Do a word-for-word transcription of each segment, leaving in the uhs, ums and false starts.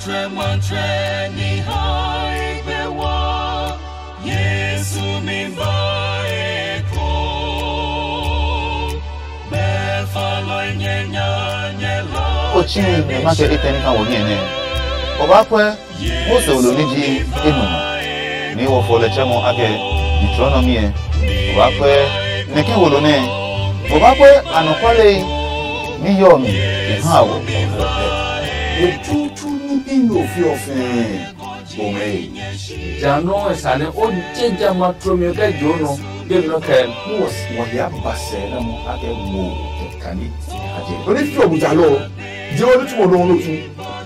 Trɛmɔtrɛ ni hae gbe wɔ, Yesu mi ba eko. Bɛ falɔi nyɛ nya nyɛ la. O tsii nɛ ma kɛ etɛ ní ka wɔ hiɛ nɛ. O ba kwɛ Mose olo ní ji e nu nɔ, ní wɔ fɔ lɛ tsɛ mɔ akɛ Deuteronomy ɛ. O ba kwɛ nɛ ke wolo nɛ. O ba kwɛ anɔkuale ní yɔɔ mi e ha wɔ. Etutu ní bi nɔ fi ɔ fɛɛ bɔmɛ. Ja nɔ esa nɛ o je ja ma tlomi kɛ jo nɔ de nɔ kɛ. Wɔ ya ba sɛ na mo akɛ mo kɛ kani. Aje. Oni fi obu ja lɔ. Je oni tu mo no no tu.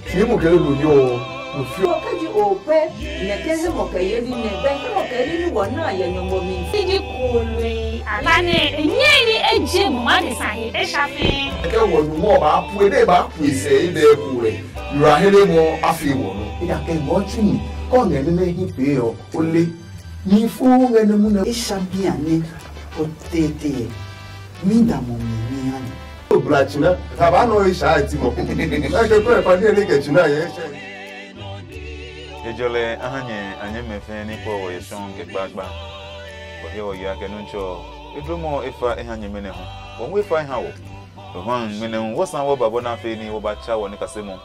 Fi mo kɛ lo yo. No fi. Kɛ ji o pɛ nɛ kɛ he mo kɛ ye ni nɛ bɛ he mo kɛ ni ni wɔ na yɛ nyɔmɔ mi. Ti ji kului. Ala ne enye ni eje mo ma de sa he e sha fi. Kɛ wɔ nu mo ba pu e de ba pu e sɛ e de ku e. Yura hele mo afi wɔ no. Ida kɛ mo chu ni. Kɔ ngɛ ne ne hi pe ɔ. O le. Mi fu ngɛ ne mu ne. E sha bia ne. O tete. Mi da mo mi mi ha ni. O bla china. Ta ba no e sha e ti mo. Na ke ko e pa ni ne ke china ye. Ejɔlɛ a ha nyɛ a nyɛmɛ fɛɛ ní kpɔ wɔ yɛ tsɔɔ kɛ kpaakpa. Wɔ he wɔ ya kɛ Nuntsɔ. E dlomɔ e fa e ha nyɛmɛ nɛ hu. Wɔ hu e fa e ha wɔ. Wɔ hu a ngmɛnɛ hu wɔ sa wɔ ba bɔ na fe ní wɔ ba tsa wɔ ní kasemɔ.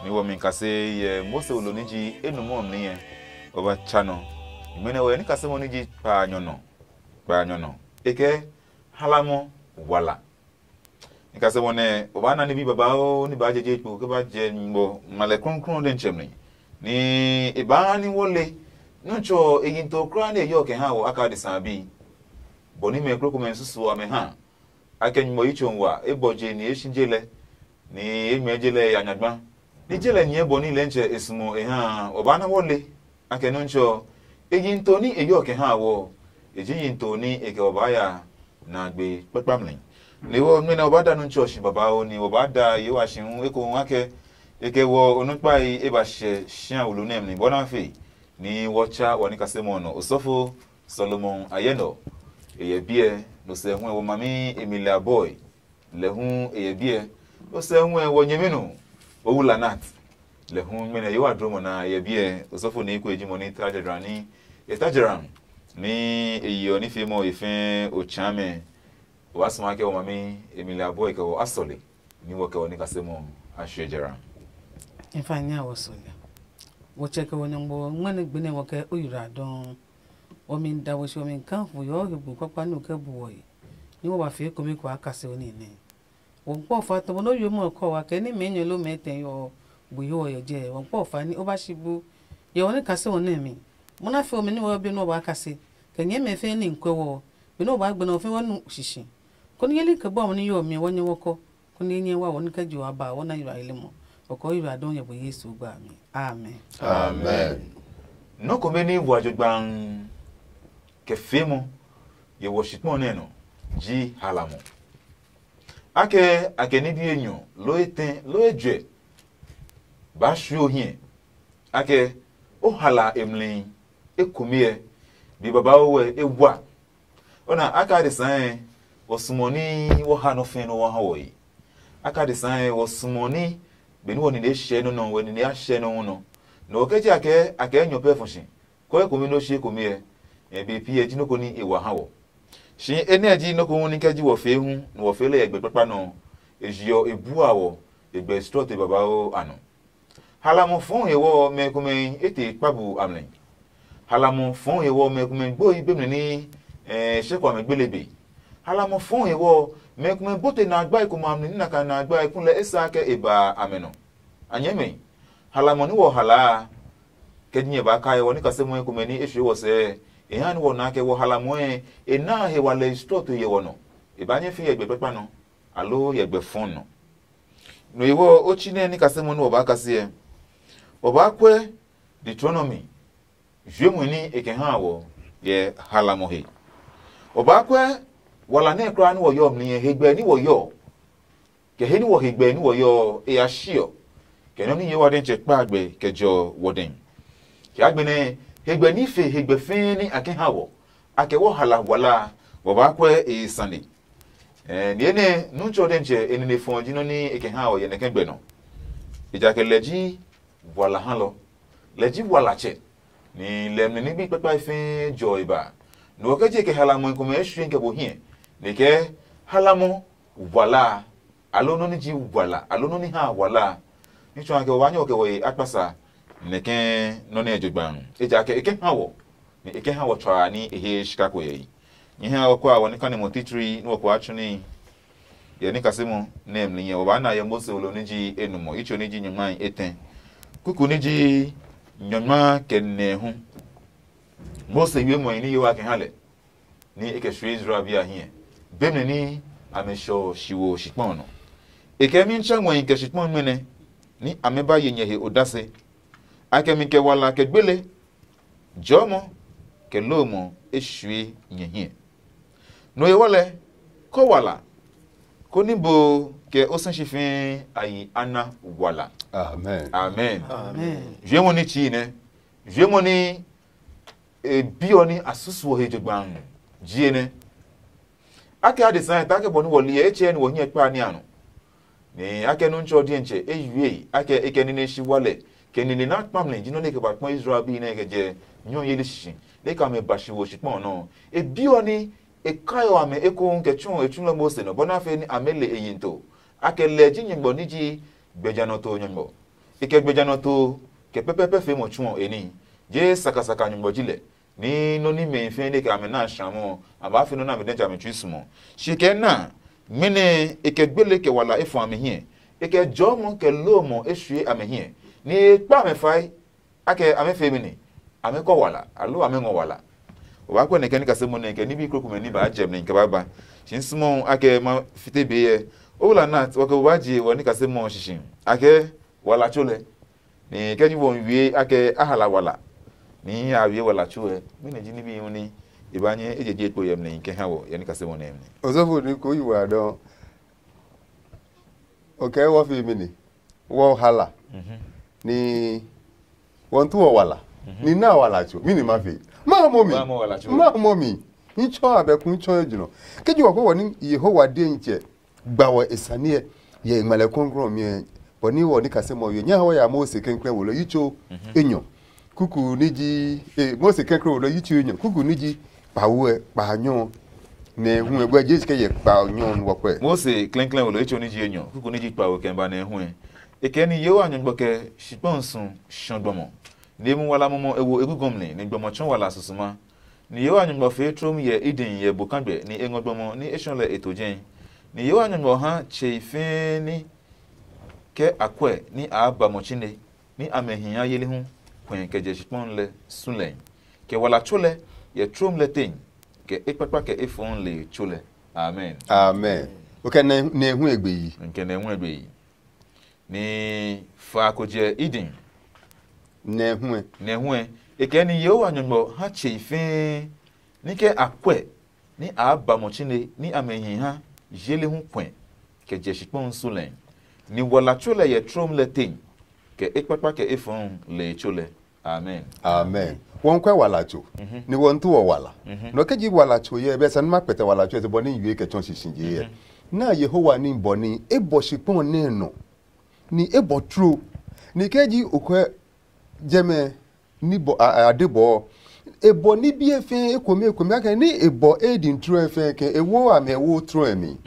Ní wɔ mi kase yɛ Mose wolo ní ji enumɔ mli yɛ. Wɔ ba tsa nɔ. Ngmɛnɛ wɔ yɛ ní kasemɔ ní ji kpaanyɔ nɔ. Kpaanyɔ nɔ. E kɛ halamɔ wala. Ni kase bɔ nɛ o ba na nibi babauu ni baa jeje kpo ke ba jɛ nyugbɔ ngmalɛ krɔnkrɔn ɔ dɛ nitsɛmli. Ni e baa ha ní wɔ le Nɔtsɔ e yi to kulaa nɛ e yɔ kɛ ha wɔ aka adesa a bi. Bɔ ní mɛ kroko mɛ susu amɛ ha. A kɛ nyugbɔ yi tso wa, e bɔ je ni e shi je lɛ, ni e ngmɛɛ je lɛ ya nyagba. Ni je lɛ nyɛɛ bɔ ní lɛntsɛ e sumo e ha a, o ba na wɔ le. A kɛ Nɔtsɔ ɔ, e yi to ní e yɔ kɛ ha wɔ ɔ, e ji yi to ní e kɛ wɔ baa ya na gbe kpakpamli. Ni wɔ nɔmlɔ ɔ ba da Nɔtsɔ ɔ shi babauu, ni wɔ baa da Yehowa shi hu ekohu akɛ e kɛ wɔ onukpai e ba hyɛ shia wulu nɛ mi bɔ na fe, ni wɔ tsa wɔ nikasemɔ ɔ nɔ osɔfo Solomon ayɛ nɔ. E yɛ biɛ, no sɛ hu ɛ wɔ mami Emilia Boy. Lɛ hu e yɛ biɛ. O sɛ hu ɛ wɔ nyɛmi nu. O wu lanat. Lɛ hu mɛnɛ yewa dro mo na e yɛ biɛ. Osɔfo ni ko eji mo ni ta jɛdra ni e ta jɛra ni e yi ɔ ni fi mo e fɛ o cha mɛ. O wa sma kɛ o mami Emilia Boy kɛ o asɔle ni wɔ kɛ o ni kase mo a shwe jɛra. In fact, nya wɔ sɔle. Wɔ chɛ kɛ wɔ nyɔngbo ngmɛnɛ gbinɛ wɔ kɛ o yura dɔn. Wɔ mi da wɔ shi wɔ mi kan fu yɔ he bu kpakpa ni o kɛ bu wɔ yi. Ni wɔ ba fee komɛ ko a kase o ni nɛ. Wɔnkpɔ fa tɔ bɔ nɔ yo mɔ kɔ wa kɛ ni mɛ nyɛ lo mɛ tɛ yɔ bu yo yɛ jɛ wɔnkpɔ fa ni o ba shi bu. Yɛ wɔ ni kase wɔ nɛ mi. Mo na fe wɔ mi ni wɔ be nɔ ba kase. Kɛ nyɛ mɛ fe ni nkwɛ wɔ. Be nɔ ba gbɛ nɔ fe wɔ nu shishi. Ko ni yeli ke bɔ mo ni yo mi wɔ nyɛ wɔ kɔ. Ko ni nyɛ wa wɔ ni kɛ jo aba wɔ na yura ile mo. Wɔ kɔ yura don yɛ bo Yesu gba mi. Amen. Amen. Nɔ ko be ni wa jo gbang. Kɛ fe mo. Ye wɔ shikpɔ nɛ nɔ. Ji hala mo. Akɛ a kɛ ní bi enyɔ loo etɛ loo ejɛ baa suo hiɛ, akɛ o hala e mli ekomiɛ, bi babauu ɛ e wa. Ona aka adesa ɛ, wɔ sumo ní wɔ ha nɔ fɛ̃ nɔ wɔ ha wɔ yi. Aka adesa ɛ, wɔ sumo ní benú wɔ nine hyɛ nɔ nɔ wɛ nine a hyɛ nɔ nɔ. Nɔ wɔ kɛ ji akɛ akɛ nyɔ pɛ fɔ shi. Kɔe komi nɔ shi komi ɛ, e be pi ɛ ji nɔ ko ní e wa ha wɔ. Shi enɛ ji nɔ ko hu ní kɛ ji wɔ fee hu, nɔ wɔ fee lɛ yɛ gbɛ kpakpa nɔ. E jiɔ e bua wɔ e gbɛ strɔte babauu a nɔ. Halamɔ fɔɔ he wɔ mɛ komɛ e te kpa bu amlɛ. Halamɔ fɔɔ he wɔ mɛ komɛ gbo yi be mɛ ní eh, shɛ kɔ amɛ gbele be. Halamɔ fɔɔ he wɔ mɛ komɛ bote na agba e komɛ amlɛ ní na ka na agba e kulɛ e sa kɛ e ba amɛ nɔ. A nyɛɛ mɛ, halamɔ ní wɔ hlaa, kɛ ji nyɛ ba kae wɔ ní kasemɔe komɛ ní e suɔ wɔ sɛɛ, e ha ní wɔ naa kɛ wɔ halamɔe e naa he wa lɛ strɔto yɛ wɔ nɔ. E ba nyɛ fi yɛ gbɛ kpakpa nɔ, aloo yɛ gbɛ fɔn nɔ. No ewɔ o tsi nɛ ní kasemɔ ní wɔ ba kase ɛ, wɔ ba kwɛ Deuteronomy juemui ní e kɛ ha wɔ yɛ halamɔ he. Wɔ ba kwɛ wala nɛ kulaa ní wɔ yɔ mli ɛ, hegbɛ ní wɔ yɔ. Kɛ he ní wɔ hegbɛ ní wɔ yɔ ɔ, e ya shiɔ, kɛ nɔ́ ní ye wa dɛ tsɛ kpa gbɛ kɛ jɔ wɔ dɛ. Kɛ a gbenɛ hegbɛ ní fe hegbɛ fɛɛ ní a kɛ ha wɔ, a kɛ wɔ hala wala, wɔ ba kwɛ e sane. Ɛɛ, niye nɛ nu tsɔ dɛ tsɛ e nine fɔ ji nɔ́ ní e kɛ ha wɔ yɛ nɛ kɛ gbɛ nɔ. Ejakaa lɛ ji walahalɔ. Lɛ ji walatsɛ, ni lɛ mli nigbi kpakpae fɛɛ jɔ e ba. Nɔ ɔ kɛ je kɛ halamɔe komɛ e sue kɛ bo hiɛ, nɛ kɛ halamɔ wala a, aloo nɔ́ nɛ ji wala, aloo nɔ́ nɛ ha wala a, ní tsɔ kɛ wa nyɛ kɛ wɔ ye akpasa, nɛ kɛ nɔ́ nɛ e jogbaŋ. Ejakaa e kɛ ha wɔ, nɛ e kɛ ha wɔ tsɔa ní e he shika ko yɛyi. Nyɛ ha wɔ kua wɔ ní kane mo titri ní wɔ kua tsu ní yɛ ní kasemo nɛ mli nyɛ wɔ ba na yɛ Mose wolo ní ji enumɔ itso ní ji nyɔngmai etɛ. Kuku ní ji nyɔngma kɛ nɛ hu. Mose wie mɔe ní yewa kɛ ha lɛ, ní e kɛ sue Israel bi a hiɛ. Be mɛ ní amɛ shɔ shi wo shikpɔn nɔ. E kɛ mi tsɛ ngɔi kɛ shikpɔn mɛnɛ ní amɛ ba ye nyɛ he odase. A kɛ mi kɛ wala kɛ gbele, jɔmɔ kɛ lomɔ e sue nyɛ hiɛ. No e wɔ lɛ, kɔ wala, koni bo kɛ o sɛ shi fɛɛ a yi ana wala. Amen. Amen. Amen. Juemɔ ní tsii nɛ, juemɔ ní e biɔ ní a susuɔ he jogbaŋ jie nɛ. Akɛ adesa ta kɛ bɔ ní wɔ li ɛ etsɛ ní wɔ hiɛ kpa ní a nɔ. Nɛ akɛ nɔ́ ntsɔ diɛntsɛ e yue akɛ e kɛ nine shi wa lɛ, kɛ nine na kpa mlɛ ji nɔ́ nɛ e kɛ ba kpɔ Israel bi nɛ e kɛ jɛ nyɔ yeli shishi, nɛ e ka mɛ ba shi wo shikpɔn ɔ nɔ. E biɔ ní e kaiɔ amɛ ekohu kɛ tsuɔ e tsulɔ Mose nɔ bɔ nɛ a fɛ ní amɛ le e yi to. Akɛ lɛ ji nyugbɔ ní ji gbɛjanɔto nyɔngmɔ. E kɛ gbɛjanɔto kɛ pɛpɛpɛ fe mo tsuɔ e ní. Je sakasaka nyugbɔ ji lɛ. Ní nɔ́ ní mɛhi fɛɛ nɛ kɛ amɛ na a shamɔ ɔ, a baa fe nɔ́ nɛ amɛ dɛ jami tsui sumɔ. Shi kɛ na, mɛnɛ e kɛ gbele kɛ wala e fɔ amɛ hiɛ, e kɛ jɔɔmɔ kɛ lomɔ e sue amɛ hiɛ, nɛ e kpa amɛ fae, akɛ amɛ fee mɛni, amɛ kɔ wala, aloo amɛ ngɔ wala. O baa kpɛ nɛ kɛ ní kase mo nɛ kɛ ní bi krokomɛ ní baa jɛ mɛ kɛ baa ba. Shi n sumo akɛ ma fite be yɛ. O wla nat, wɔ kɛ o baa je wɔ ní kase mo shishi. Akɛ wala tso lɛ. Ni kɛ ji wɔ wie akɛ a hala wala. Ni a wie wala tso ɛ. Mi ne ji ní bi hu ni e ba nyɛ e je je kpo yɛ mlɛ kɛ ha wɔ yɛ ní kase mo nɛ mlɛ. Osɔfo ni ko yi wa dɔ. O kɛ wɔ fi mi ni. Wɔ hala. Ni wɔ ntu wɔ wala. Ni na wala tso. Mi ni ma fi. Ma mo mi. Ma mo mi. N tsɔ abɛ ku n tsɔ ejunɔ. Kɛ ji wɔ ko wɔ ni Yehowa de n tsɛ. Gba wɔ e sane ɛ yɛ e ngmɛlɛ krɔngkrɔng mi ɛ, bɔ ní wɔ ní kase mɔ yo nya hɔ ya Mose kɛnkrɛn wo lɔ yitso enyɔ. Kuku ní ji e Mose kɛnkrɛn wo lɔ yitso enyɔ kuku ní ji kpawo ɛ kpa nyɔ. Nɛ hu ɛ bɔ jesu kɛ yɛ kpa nyɔ nu wɔkpɛ. Mose klɛnklɛn wo lɔ yitso ní ji enyɔ kuku ní ji kpawo kɛ ba nɛ hu ɛ. E kɛ ni yewa nyɔgbɔ kɛ shikpɔn su shɔ gbɔmɔ. Ni e mu wala mɔmɔ e wo egugɔmli ni gbɔmɔ tsɔ wala susuma. Ni Yehowa Nyɔngma fee trom yɛ Eden yɛ bo kagbe ni e ngɔ gbɔmɔ ni e shɔ lɛ e to jɛi. Ni Yehowa Nyɔngma ha tsei fɛɛ ní kɛ a kuɛ ní a ba mɔ tsine ní amɛ hi ha yeli hu kuɛ kɛ jɛ shikpɔn lɛ su lɛ, kɛ wala tso lɛ yɛ trom lɛ tei, kɛ e kpakpa kɛ e fɔɔ le tso lɛ. Amen. Amen. O kɛ nɛ nɛ hu egbe yi. Nkɛ nɛ hu egbe yi. Ni fa ko jɛ Eden. Nɛ hu ɛ. Nɛ hu ɛ. E kɛ ni Yehowa Nyɔngma ha tsei fɛɛ ní kɛ a kuɛ ní a ba mɔ tsine ní amɛ hi ha yele hu kuɛ kɛ jɛ shikpɔn su lɛ. Ni wala tso lɛ yɛ trom lɛ tei, kɛ e kpakpa kɛ e fɔɔ le tso lɛ. Amen. Amen. Wɔn kwɛ wala tso. Ni wɔn tu wɔ wala. Nɔ kɛ ji wala tso yɛ bɛ sani ma kpɛtɛ wala tso yɛ bɔ ni yue kɛ tsɔn sisi je yɛ. Na Yehowa ni bɔ ni e bɔ shikpɔn nɛ nɔ. Ni e bɔ tro. Ni kɛ ji o kwɛ jɛmɛ ni bɔ a de bɔ. E bɔ ni bie fɛ e komi e komi akɛ ni e bɔ e din tro fɛ kɛ e wo amɛ wo tro mi.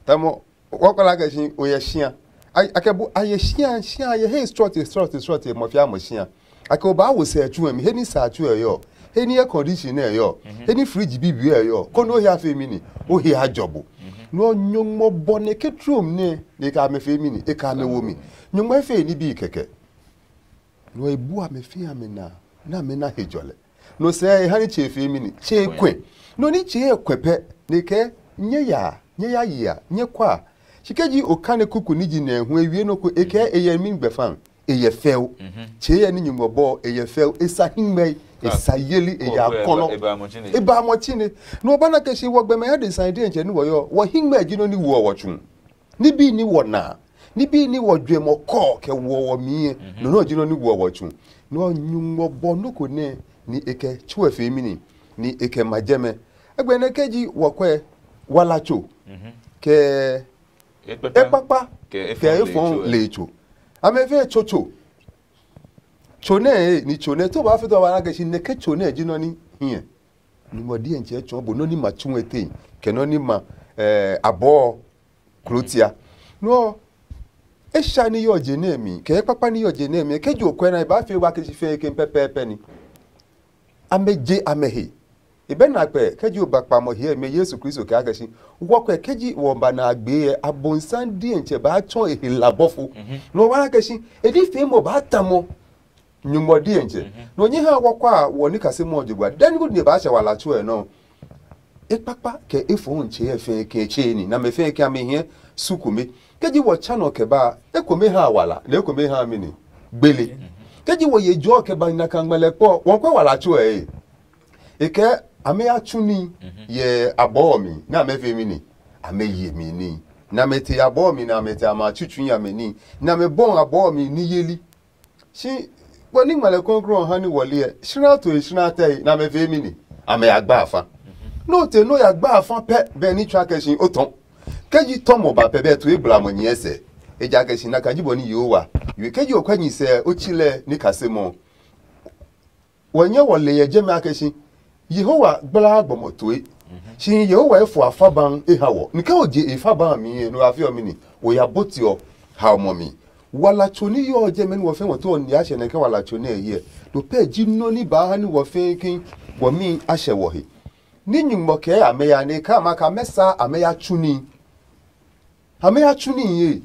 Tamɔ wɔkpala kɛ si o yɛ shia. Akɛ bu a yɛ shia shia a yɛ he srɔte srɔte srɔte mɔ fia mɔ shia. Akɛ o baa wo sɛ tsu mi he ni sa tsu ɛ yɔ, he ni air condition ɛ yɔ, he ni fridge bibi ɛ yɔ, kɔni o he a fe mi ni o he a jɔ bo. Nɔ nyɔngmɔ bɔ ne ke trom ne ne ka me fe mi ni e ka me wo mi. Nyɔngmɔ e fe ni bi kɛkɛ. Nɔ e bu amɛ fe amɛ na na me na he jɔlɛ. Nɔ sɛ e ha ni che fe mi ni che kwɛ. Nɔ ni che e kwɛ pɛ ne kɛ nye ya nye ya yi a nye kwa. Shi kɛ ji o kane kuku ni ji nɛ hu e wie nɔ ko e kɛ e yɛ mi gbɛfan. E yɛ fɛo. Tsɛ yɛ ni nyumu bɔ e yɛ fɛo e sa hingmɛ e sa yeli e ya kɔnɔ. E ba mɔ tsine. No ba na kɛ si wɔ gbɛmɛ ya de san diɛ ntsɛ ni wɔ yɔ wɔ hingmɛ ji no ni wɔ wɔ tsu. Ni bi ni wɔ na ni bi ni wɔ jue mɔ kɔ kɛ wɔ wɔ mi yɛ no no ji no ni wɔ wɔ tsu. No nyumu bɔ no ko nɛ ni e kɛ tsu e fe mi ni ni e kɛ ma jɛmɛ. Egbɛ nɛ kɛ ji wɔ kwɛ wala tso kɛ ekpakpa kɛ efɔn le tso. Amɛ fɛ tsotso. Tso nɛ e ni tso nɛ to ba fɛ to ba na kɛ si nɛ ke tso nɛ ji nɔ ni hiɛ. Ni mo die nche chɔ bo nɔ ni ma tsu e te. Ke nɔ ni ma eh abɔ klotia. No e sha ni yo je nɛ mi, ke kpakpa ni yo je nɛ mi, ke jo kwɛ na ba fe wa ke si fe ke pɛpɛpɛ ni. Ame je ame he. E be na kpɛ ke ji o ba kpa mo hiɛ me Yesu Kristo ke a kɛ si. Wɔ kpɛ ke ji wɔ ba na gbe yɛ abonsan die nche ba chɔ e he labɔfo. No wa kɛ si. E di fe mo ba ta mo. Nyuŋmɔ diɛntsɛ. Nɔ nyɛ ha wɔkɔ a wɔ ni kase mɔ jogba dani ko ni ba sɛ wala tsuɛ nɔ. E kpakpa kɛ e fɔ ntsɛ yɛ fɛ kɛ tse ni na mɛ fɛ kɛ ame hiɛ su kome. Ke ji wɔ tsa nɔ kɛ ba e kome ha wala ne e kome ha mi ni gbele. Ke ji wɔ ye jɔ kɛ ba na ka ngmɛlɛ kpɔ wɔn kɔ wala tsuɛ e. E kɛ ame ya tsu ni yɛ abɔ mi na mɛ fɛ mi ni ame ye mi ni na mɛ te abɔ mi na mɛ te ama tsutsu ya mi ni na mɛ bɔ abɔ mi ni yeli. Shi bɔ ní ngmɛlɛ krɔnkrɔn ɔ ha ní wɔli ɛ, shra toe shra tɛe nɛ amɛ fee mi ni, amɛ ya gba afa. Nɛ o te nɛ o ya gba afa pɛ bɛ ní tsua kɛ shi o tɔ. Kɛ ji tɔmɔ ba pɛ bɛ tue gblamɔ nyɛɛ sɛ, ejakaa shi na ka ji bɔ ní Yehowa. Yue kɛ ji o kwɛ nyi sɛ o tsi lɛ ní kase mɔ. Wɔ nyɛ wɔ le yɛ jɛmɛ a kɛ shi Yehowa gbalaa gbɔmɔ toe. Shi Yehowa efo afa ban e ha wɔ. Ni ke o je e fa ban mi he no afi ɔ mi ni, o ya boti ɔ ha mɔ mi. Wala tso ni yɔ jɛmɛ ni wɔ fɛ wɔ to ɔ ni a hyɛ nɛ ke wala tso nɛ yɛ. No pɛ ji nɔ ni ba ha ni wɔ fɛ ke wɔ mi a hyɛ wɔ he. Ni nyuŋmɔ kɛ amɛ ya ne ka ma ka mɛ sa amɛ ya tsu ni. Ame ya tsu níhi ye.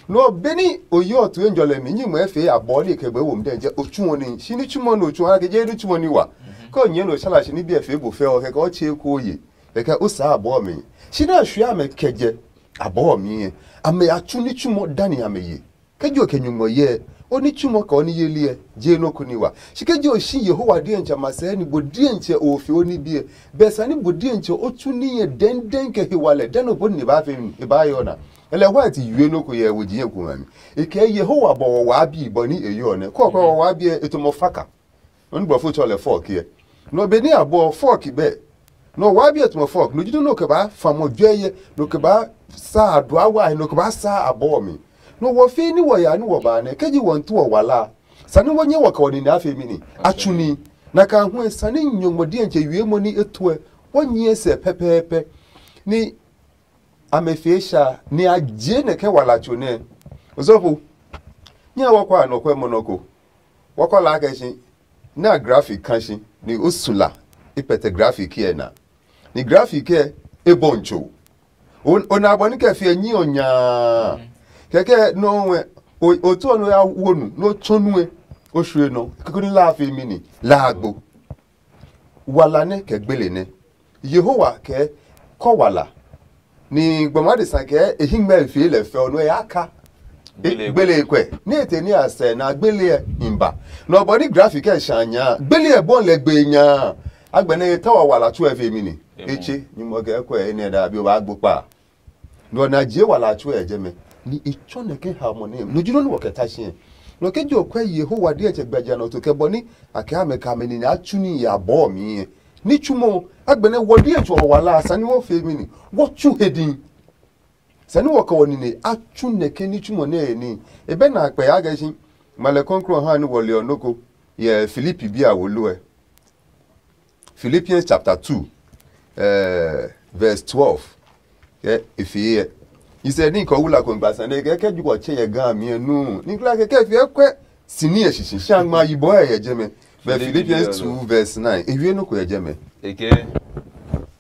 No beni o yi ɔ tue njɔlɛ mi nyi ngmɛ fee abɔ ni ke gbɛ wo mdɛ je o tsu ɔ ni shi ni tsu mɔ no tsu ha ke je ni tsu ɔ ni wa. Ke o nyɛ no sala shi ni bi e fee bo fɛ ɔ kɛ o che ko ye. Kɛ o sa abɔ mi. Shi na shwe ame kɛ je abɔ mi ye. Ame ya tsu ni tsu mɔ dani ame ye. Ke jo ke nyuŋmɔ ye. O ni tsu mɔ ka o ni ye liɛ je no ko ni wa. Shi ke jo shi Yehowa diɛntsɛ ma sɛ ni bo diɛntsɛ o fe o ni bie. Bɛ sani bo diɛntsɛ o tsu niye dɛndɛn kɛ he walɛ dɛ no bɔni ne ba fe mi e ba yɔ na. Ɛlɛ white yue no ko yɛ wo jiɛ ko ngami. E kɛ Yehowa bɔ wɔ waa bi bɔ ni e yɔ nɛ kɔ kɔ wɔ waa bi e to mɔ faka. Oni bɔ fo tsɔ lɛ fɔ kiɛ. No be ni abɔ fɔ ki bɛ. No waa bi e to mɔ fɔ no jido no ke ba fa mɔ jwɛ ye no ke ba sa adua wa no ke ba sa abɔ mi. No wɔ fi ni wɔ ya ni wɔ ba nɛ ke ji wɔ ntu wɔ wala. Sani wɔ nyɛ wɔ ka wɔ ni na fe mi ni. A tsu ni. Na ka hu sani nyɔngmɔ diɛntsɛ yue mo ni e tuɛ. Wɔ nyɛ sɛ pɛpɛɛpɛ. Ni amɛ fee sha ni a je nɛ kɛ wala tso nɛ. Osɔfo, nyɛ wɔ kɔ anɔkwɛ mɔ nɔ ko. Wɔ kɔ la kɛ shi na graphic kan shi ni o su la i pɛtɛ graphic kɛ na. Ni graphic kɛ e bɔ ncho. O na bɔ ni kɛ fiɛ nyi ɔ nyaa. Kɛkɛ nɔ wɛ o to nɔ ya wo nu no tso nu e. O shwe nɔ kɛkɛ ni la fe mi ni la agbo. Wala nɛ kɛ gbele nɛ. Yehowa kɛ kɔ wala. Ni gbɔma de sa kɛ e hi ngmɛ fee lɛ fɛ ɔ no ya ka. Gbele kwɛ ni e te ni a sɛ na gbele ɛ himba. Nɔ bɔ ni graphic ɛ sha nya gbele ɛ bɔn lɛ gbe nya. Agbɛnɛ e tawa wala tsu ɛ fe mi ni. E tse nyumɔ kɛ kwɛ e nɛ da bi o ba gbo kpa. Nɔ na jie wala a tsuɛ yɛ jɛmɛ ni e tsɔ nɛ ke ha mɔ nɛ no ji nɔ ni wɔ kɛ ta siɛ. Nɔ ke ji o kwɛ Yehowa diɛ tsɛ gbɛja nɔ to kɛ bɔ ni a kɛ amɛ ka mɛ ni na tsu ni ya bɔ mi yɛ. Ni tsu mo agbɛnɛ wɔ diɛ tsɔ wala sani wɔ fe mi ni wɔ tsu he din. Sani wɔ kɛ wɔ ni ne a tsu nɛ ke ni tsu mo nɛ ni e bɛ na kpɛ ya gɛ shi. Malɛ kɔnkrɔ ha ni wɔ le ɔ noko yɛ Filipi bia wo lo ɛ. Philippians chapter two, eh, verse twelve. Ke efee yɛ. He said, "Ni ko wula ko ngba sane ke ke ju ko che ye ga mi nu. Ni kla ke ke fi ekwe sini ye shishi shangma yi bo ye jeme." But Philippians two verse nine. E wie no ko ye jeme. Eke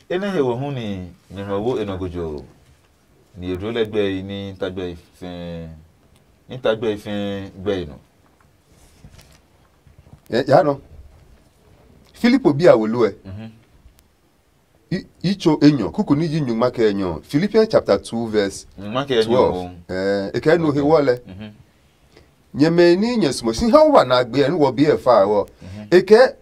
ene he wo hu ni nyɔmɔ wo enɔ gojo. Ni edro lɛ gbɛ yi ni tagbɛ yi fɛɛ. Ni tagbɛ yi fɛɛ gbɛ yi nɔ. Ya nɔ. Filipo bi a wolo ɛ. Itso enyɔ kuku ni ji nyuma kɛ enyɔ. Philippians chapter two verse twelve. Eh, e kɛ no he wɔ lɛ. Nyɛmɛ ni nyɛ sumo si ha wa na gbe ɛ ni wɔ bi ɛ fa wɔ. E kɛ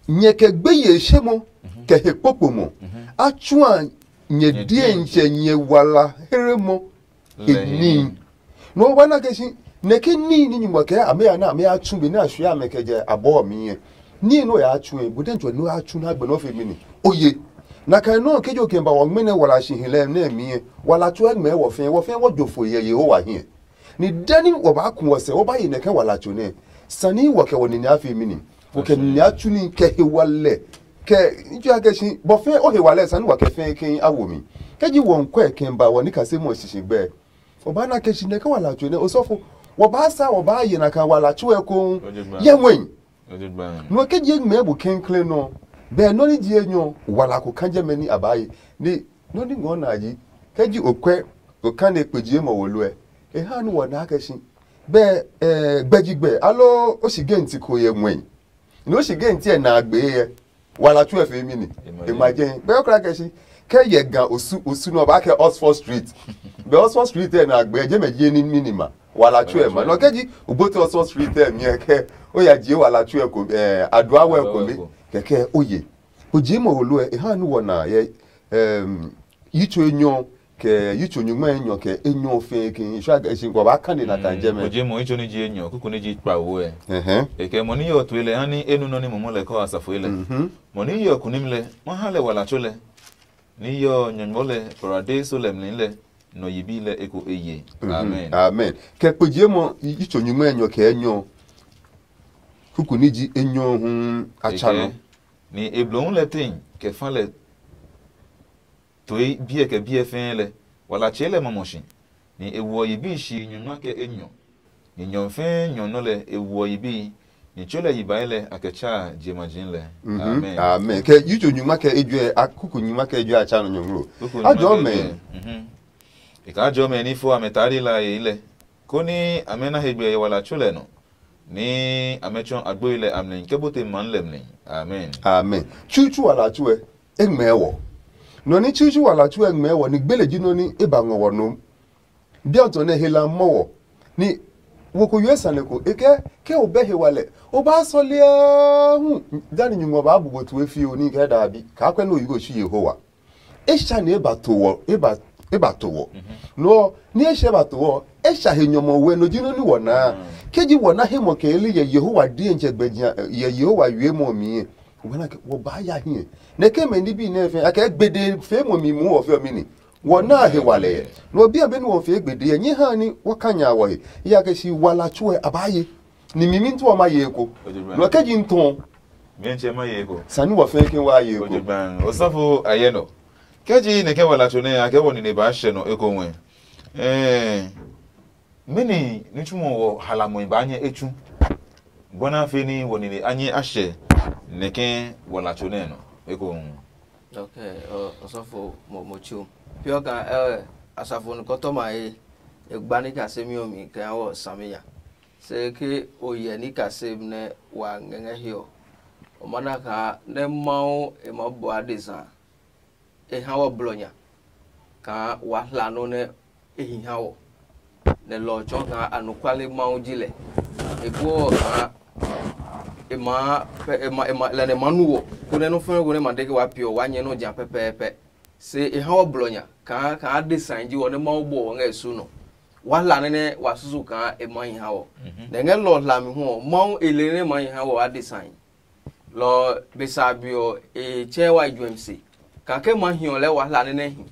nyɛ kɛ gbe ye she mo kɛ he kpokpo mo. A tsua nyɛ die ntsɛ nyɛ wala here mo. He nii. No wa na ke si ne ke nii ni nyumɔ kɛ ame ya na ame ya tsu be na shwe ame kɛ jɛ abɔ mi yɛ. Nii no ya tsu e bu den jɔ no ya tsu na gbe no fe mi ni. Oye. Na kai no ke jo ke ba wɔ ngmene wala shi hilɛ ne mi yɛ. Wala tsu e ngmɛ wɔ fɛ wɔ fɛ wɔ jo fo yɛ Yehowa hiɛ. Ni dani wɔ ba ku wɔ sɛ wɔ ba yi ne ke wala tsu ne. Sani wɔ kɛ wɔ nine a fee mi ni. Wɔ kɛ nine a tsu ni kɛ he wa lɛ. Kɛ n tsu a kɛ si bɔ fɛ o he wa lɛ sani wɔ kɛ fɛ kɛ a wo mi. Kɛ ji wɔ n kɔɛ kɛ ba wɔ ni ka se mɔ sisi gbɛ. O ba na kɛ si nɛ kɛ wa la tsu nɛ o sɔfo. Wɔ ba sa wɔ ba ye na ka wa la tsu ɛ ko. Yɛ wɛn. Nɔ kɛ ji eŋmɛ bu kɛnklɛ nɔ. Bɛ nɔ ni ji enyɔ wa la ko kan jɛ mɛ ni a ba ye. Ni nɔ ni ngɔ na ji. Kɛ ji o kwɛ o kan ne kpe ji mɔ wo lo ɛ. E ha ni wɔ na kɛ si. Bɛ eh, gbɛji gbɛ alo o si genti ko yɛ mwɛi. Ni o si genti ɛ na gbe yɛ. Wala tsu ɛ fe mi ni. E ma jɛ. Bɛ o kra kɛ si. Kɛ yɛ ga osu osu nɔ ba kɛ Oxford Street. Bɛ Oxford Street ɛ na gbe je mɛ je ni minima. Wala tsu ɛ ma. Nɔ kɛ ji o bote Oxford Street ɛ mi ɛ kɛ o ya je wala tsu ɛ ko eh adua wɛ ko mi. Kɛkɛ o ye. O je mɔ wo lo ɛ e ha ni wɔ na yɛ. Yitso enyɔ kɛ yitso nyugma enyɔ kɛ enyɔ fɛɛ ke isua kɛ shi kɔ ba kane na kan jɛ mɛ. Oje mo itso ni ji enyɔ kuku ni ji kpawo ɛ. Ɛhɛn. Ekɛ mo ni yɔ tue lɛ ha ni enu nɔ ni momo lɛ kɔ asafo lɛ. Mhm. Mo ni yɔ kunim lɛ ma ha lɛ wala tso lɛ. Ni yɔ nyɔnyɔ lɛ parade so lɛ mli lɛ nɔ yibi lɛ eko eye. Mhm. Amen. Amen. Kɛ kpejie mɔ yitso nyugma enyɔ kɛ enyɔ kuku ni ji enyɔ hu a tsa nɔ. Ni eblohu lɛ tein kɛ fa lɛ toe biɛ kɛ biɛ fɛɛ lɛ wala tsɛɛ lɛ mɔmɔ shi. Ni e woɔ yibi shi nyɔngma kɛ enyɔ. Ni nyɔ fɛɛ nyɔ nɔ lɛ e woɔ yibi. Ni tso lɛ yibae lɛ a kɛ tsaa jemaji lɛ. Mhm. Amen. Amen. Kɛ yitso nyuma kɛ ejɔɛ a kuku nyuma kɛ ejɔɛ a tsa nɔ nyɔnglo. Kuku nyuma kɛ ejɔɛ. Mhm. E kaa jɔmɛ ni fo amɛ taari la e lɛ koni amɛ na he gbɛ yɛ wala tso lɛ nɔ. Ni amɛ tsɔ agboi lɛ a mlɛ kɛ bote man lɛ mlɛ. Amen. Amen. Tsutsu wala tsuɛ e ngmɛɛ wɔ. Nɔ ni tsutsu wala tsuɛ ngmɛɛ wɔ ni gbele ji nɔ ni e ba ngɔ wɔ nom. Biɔtɔ nɛ hela mɔ wɔ. Ni wo ko yue sane ko e kɛ ke o bɛ he walɛ o ba sɔlia hu. Dani nyungɔ ba bu bo tue fi o ni kɛ da bi ka kwɛ no yugo shi Yehowa. E sha ni e ba to wɔ e ba e ba to wɔ. No ni e sha ba to wɔ e sha he nyɔmɔ we no ji no ni wɔ na. Ke ji wɔ na he mɔ ke li ye Yehowa die nche gbe ji ye Yehowa yue mɔ mi. Wɔ na ke wɔ ba ya hi. Ne ke me ni bi ne fe a ke gbede fe mɔ mi mu wɔ fe mi ni. Wɔ na he wa le. No bi a be ni wɔ fe gbede ye nyi ha ni wɔ ka nya wɔ he. Ya ke si wala tsuɛ a ba ye. Ni mi mi ntu ma ye ko. No ke ji nton. Mi nche ma ye ko. Sani wɔ fe ke wa ye ko. Ojugban. Osafo aye no. Ke ji ne ke wala tso ne a ke wɔ ni ne ba she no e ko wen. Eh. Mɛni ní tsumɔ wɔ halamɔe baa nyɛ etsu? Bɔna fe ní wɔ nine a nyɛ a hyɛ nɛkɛ wɔlatso nɛ nɔ ekohu. Ok. Ɔsɔfo mɔmɔtso piɔ ka ɛ asafo nukɔtɔma he egba ní kasemi ɔ mi kɛ wɔ sami ya. Se ke o yɛ ní kasem nɛ wa ngɛngɛ he ɔ, o ma na kaa nɛ Mawu e ma bɔ adesa e ha wɔ blɔ nya kaa wa hla nɔ nɛ e hi ha wɔ. Nɛ lɔ ɔ tsɔɔ kaa anɔkuale Mawu ji lɛ. E buɔ ɔ kaa e maa pɛ e ma e ma lɛ nɛ ma nu wɔ konɛ nɔ fɛ̃ ko nɛ ma de ke wa piɔ wa nyɛ nɔ ja pɛpɛɛpɛ. Se e ha wɔ blɔ nya kaa kaa adesa ji wɔ nɛ Mawu bɔ wɔ ngɛ e su nɔ. Wa hla nɛ nɛ wa susu kaa e ma hi ha wɔ. Nɛ ngɛ lɔ ɔ hlami hu ɔ Mawu e le nɛ ma hi ha wɔ adesa. Lɔ ɔ be sa a be ɔ e tsɛɛ wa juɛmi se kake ma hiɔ lɛɛ wa hla nɛ nɛ hi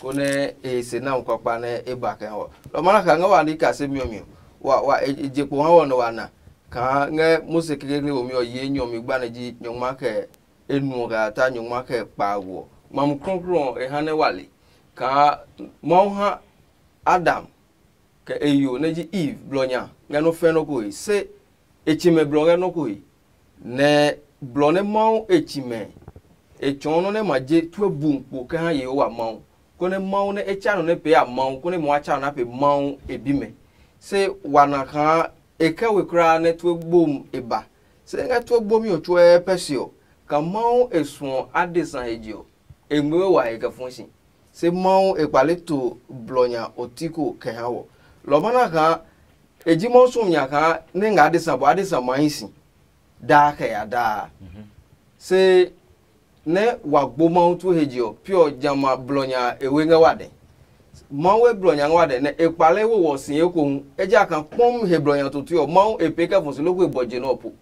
konɛ e he se na kpakpa nɛ e ba kɛ ha wɔ. Lɔ ɔ ma na kaa ngɛ wa ní kasemi ɔ mi ɔ wa wa e je kpo ha wɔ nɛ wa na kaa ngɛ Mose kekekle womi ɔ yi enyɔ mi gba nɛ ji nyɔngma kɛ enu ɔ kɛ ya ta nyɔngma kɛ kpaago ɔ. Mamu krɔnkrɔn ɔ e ha nɛ wa le kaa Mawu ha Adam kɛ e yo nɛ ji Eve blɔ nya ngɛ nɔ́ fɛ́ nɔ́ ko he. Se e tsi mɛ blɔ ngɛ nɔ́ ko he, nɛ blɔ nɛ Mawu e tsi mɛ e tsɔɔ nɔ́ nɛ ma je tue bu kpo kɛ ha Yehowa Mawu, konɛ Mawu nɛ e tsa nɔ nɛ pee a Mawu, konɛ ma wa tsa nɔ nɛ a pee Mawu e bimɛ. Se wa na kaa e kɛ we kulaa nɛ tue gbomi e ba. Se ngɛ tue gbomi ɔ tsuɛ pɛ se ɔ, ka Mawu e suɔ adesa he je ɔ, e ngmɛɛ we wa he kɛ fɔ̃ si. Se Mawu e kpale to blɔ nya ɔ ti ko kɛ ha wɔ. Lɔ ɔ ma na kaa e ji Mawu suɔmi nya kaa nɛ ngɛ adesa bɔ adesa ma hi si daa kɛ ya daa. Se nɛ wa gbo Mawu tue he je ɔ, pi ɔ jamɛ a blɔ nya e we ngɛ wa dɛ. Mawu e blɔ nya ngɛ wa dɛ nɛ e kpale wo wɔ si ekohu, ejakaa kpɔm he blɔ nya totoi ɔ, Mawu e pee kɛ fɔ si loko e bɔ je nɛ ɔ po.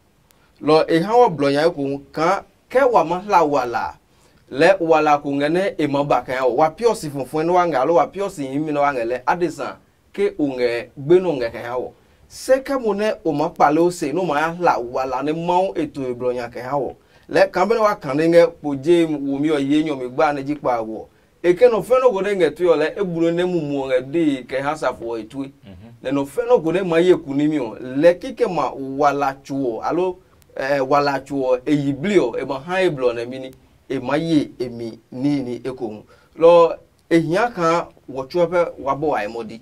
Lɔ ɔ e ha wɔ blɔ nya ekohu kaa ke wa ma hla wala a, lɛɛ wala ko ngɛ nɛ e maa ba kɛ ha wɔ. Wa piɔ si fɔfɔɛ nɛ wa ngɛ, aloo wa piɔ si himi nɛ wa ngɛ lɛɛ adesa ke o ngɛ gbenɔ ngɛ kɛ ha wɔ. Se kɛ mo nɛ o maa kpale o se nɛ o ma ya hla wala nɛ Mawu e to e blɔ nya kɛ ha wɔ. Lɛɛ kaa benɛ wa kane ngɛ kpo je womi ɔ ye nyɔ mi gba nɛ ji kpa ɔ, e ke nɔ fɛ̃ nɔ ko nɛ ngɛ tue ɔ lɛ e bu nɔ nɛ mumu ɔ ngɛ dee kɛ ha safo ɔ e tue. Nɛ nɔ fɛ̃ nɔ ko nɛ ma ye kunimi ɔ lɛ kikɛ ma wala tso ɔ alo eh, wala tso ɔ e yi bli ɔ e ma ha e blɔ nɛ mi ni e ma ye e mi nihi ekohu. Lɔ e hia kaa wɔ tsuɛ pɛ wa bɔ wa e mɔdi.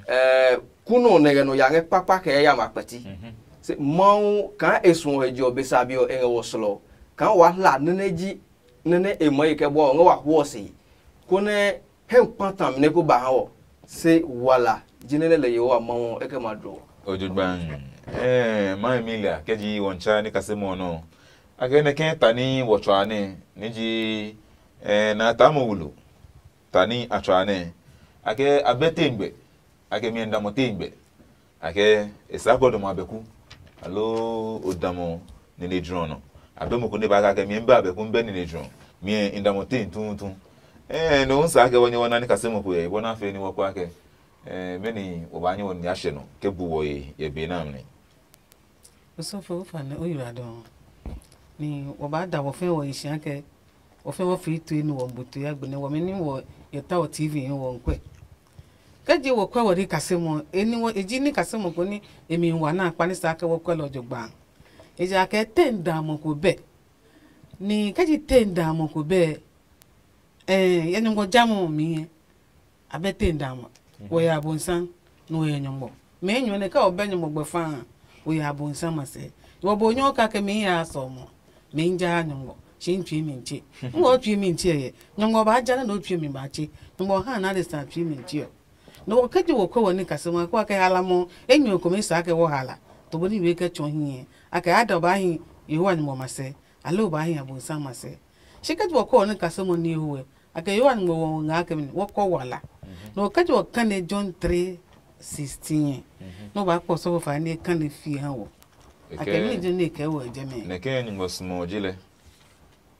Eh, kunɔ nɛ ngɛ nɔ ya ngɛ kpakpa kɛ ya ma kpɛti. Se Mawu kaa e suɔ he je ɔ be sa bi ɔ e ngɛ wɔ slɔ kaa wa hla nɛnɛ ji nɛnɛ e mɔ ye kɛ bɔ ɔ ngɛ wa huɔ se konɛ hɛ kpa tami nɛ ko ba ha wɔ. Se wala ji nɛnɛ lɛ yehowa Mawu ɔ e kɛ ma dro wɔ. Ojogban. Eh, ma Emilia kɛ ji wɔn cha ni kase mo no. Ake ne kɛ ta ni wɔ tswa ne ni ji eh, na ta mo wulo. Ta ni a tswa ne. Ake abɛ te ngbe. Ake mi nda mo te ngbe. Ake e sa ko do mo abɛku. Alo o da mo nene drɔ no. Abɛ mo ko ne ba ka ke mi ba abɛku be nene drɔ. Mi nda mo te tutu. Eh, no sa ke wɔ ni wɔ na ni kase mo ko ye. Wɔ na fe ni wɔ kwa ke. Eh, meni wɔ ba nyɛ wɔ ni a hyɛ no ke bu wɔ ye ye be na mli. Osɔfo, wofa nɛ o yura dɔɔ. Ni wɔ ba da wɔ fɛɛ wɔ yi shia kɛ wɔ fɛɛ wɔ fii tue ni wɔ bu tue agbe nɛ wɔmi ni wɔ yɛ ta wɔ T V wɔ nkwɛ. Kɛ je wɔ kwɛ wɔ ni kasemɔ, e ni wɔ e ji ni kasemɔ ko ni e mi wa na kpa ni sa kɛ wɔ kwɛ lɔ jo gba. Ejakaa te n da mɔ ko bɛ. Ni kɛ ji te n da mɔ ko bɛ. Eh, yɛ nyɔngɔ jamɔ ɔ mi yɛ. Abɛ te nda ma. Wo ya abonsam, no yɛ nyɔngɔ. Me nyɔ ne ka obɛ nyɔngɔ gbɛ fa. Wo ya abonsam ma se. Wo bo nyɔ ka ke me ya so mo. Me nja nyɔngɔ. Shi n tui mi nche. N wo tui mi nche ye. Nyɔngɔ ba ja na no tui mi ba che. Nyɔngɔ ha na de sa tui mi nche. No wo ke ji wo ko wo ni kasema ko ke hala mo. E nyɔ ko me sa ke wo hala. To bo ni we ke chɔ hi. A ke ada ba hi. Yehowa nyɔngɔ ma se. Alo ba hi abonsam ma se. Shi ke ji wo ko wo ni kasema ni hu. Ake Yohan ngmɔ wɔ ngɛ akɛ mi wɔ kɔ wala. No kɛ ji wɔ kane John three sixteen. No ba kpɔ sɔfo fa ne kane fi ha wɔ. Ake mi je ne kɛ wɔ je me. Nɛkɛ nyugbɔ sumɔ ji lɛ.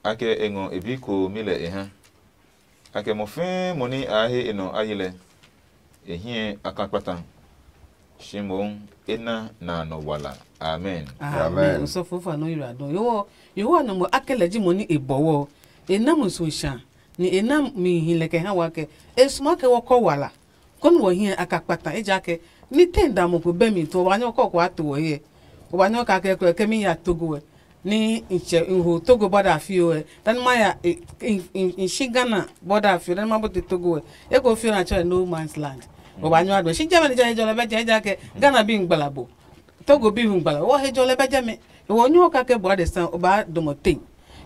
Ake e ngɔ e bi ko mi lɛ e ha. Ake mo fɛɛ mo ni a he e nɔ a yi lɛ. E hiɛ a ka kpata. Shi mohu e na na nɔ wala. Amen. Amen. Osɔfo fa no yira dɔn. Yo, yo wa no mo akɛ lɛ ji mo ni e bɔwɔ. E na mo so sha. Ni e na mi hi lɛ kɛ ha wa kɛ. E suma kɛ wɔ kɔ wala. Kɔni wɔ hiɛ a ka kpata e ja kɛ. Ni te da mo ko bɛ mi to wa nyɔ kɔ ko a to wɔ ye. O wa nyɔ ka kɛ kɛ mi ya togo wɛ. Ni n tsɛ n ho Togo bɔda fio ɛ, dan ma ya n shi Ghana bɔda fio dan ma bote Togo ɛ. Eko fio na tsɛ no man's land. O ba nyɔ adɔ shi jɛ mɛ ni jɛ jɔ lɛ bɛ jɛ jɛ kɛ Ghana bi ngbalabo. Togo bi ngbalabo wɔ he jɔ lɛ bɛ jɛ mɛ. E wɔ nyɔ ka kɛ bɔ de san o ba dɔmɔ te.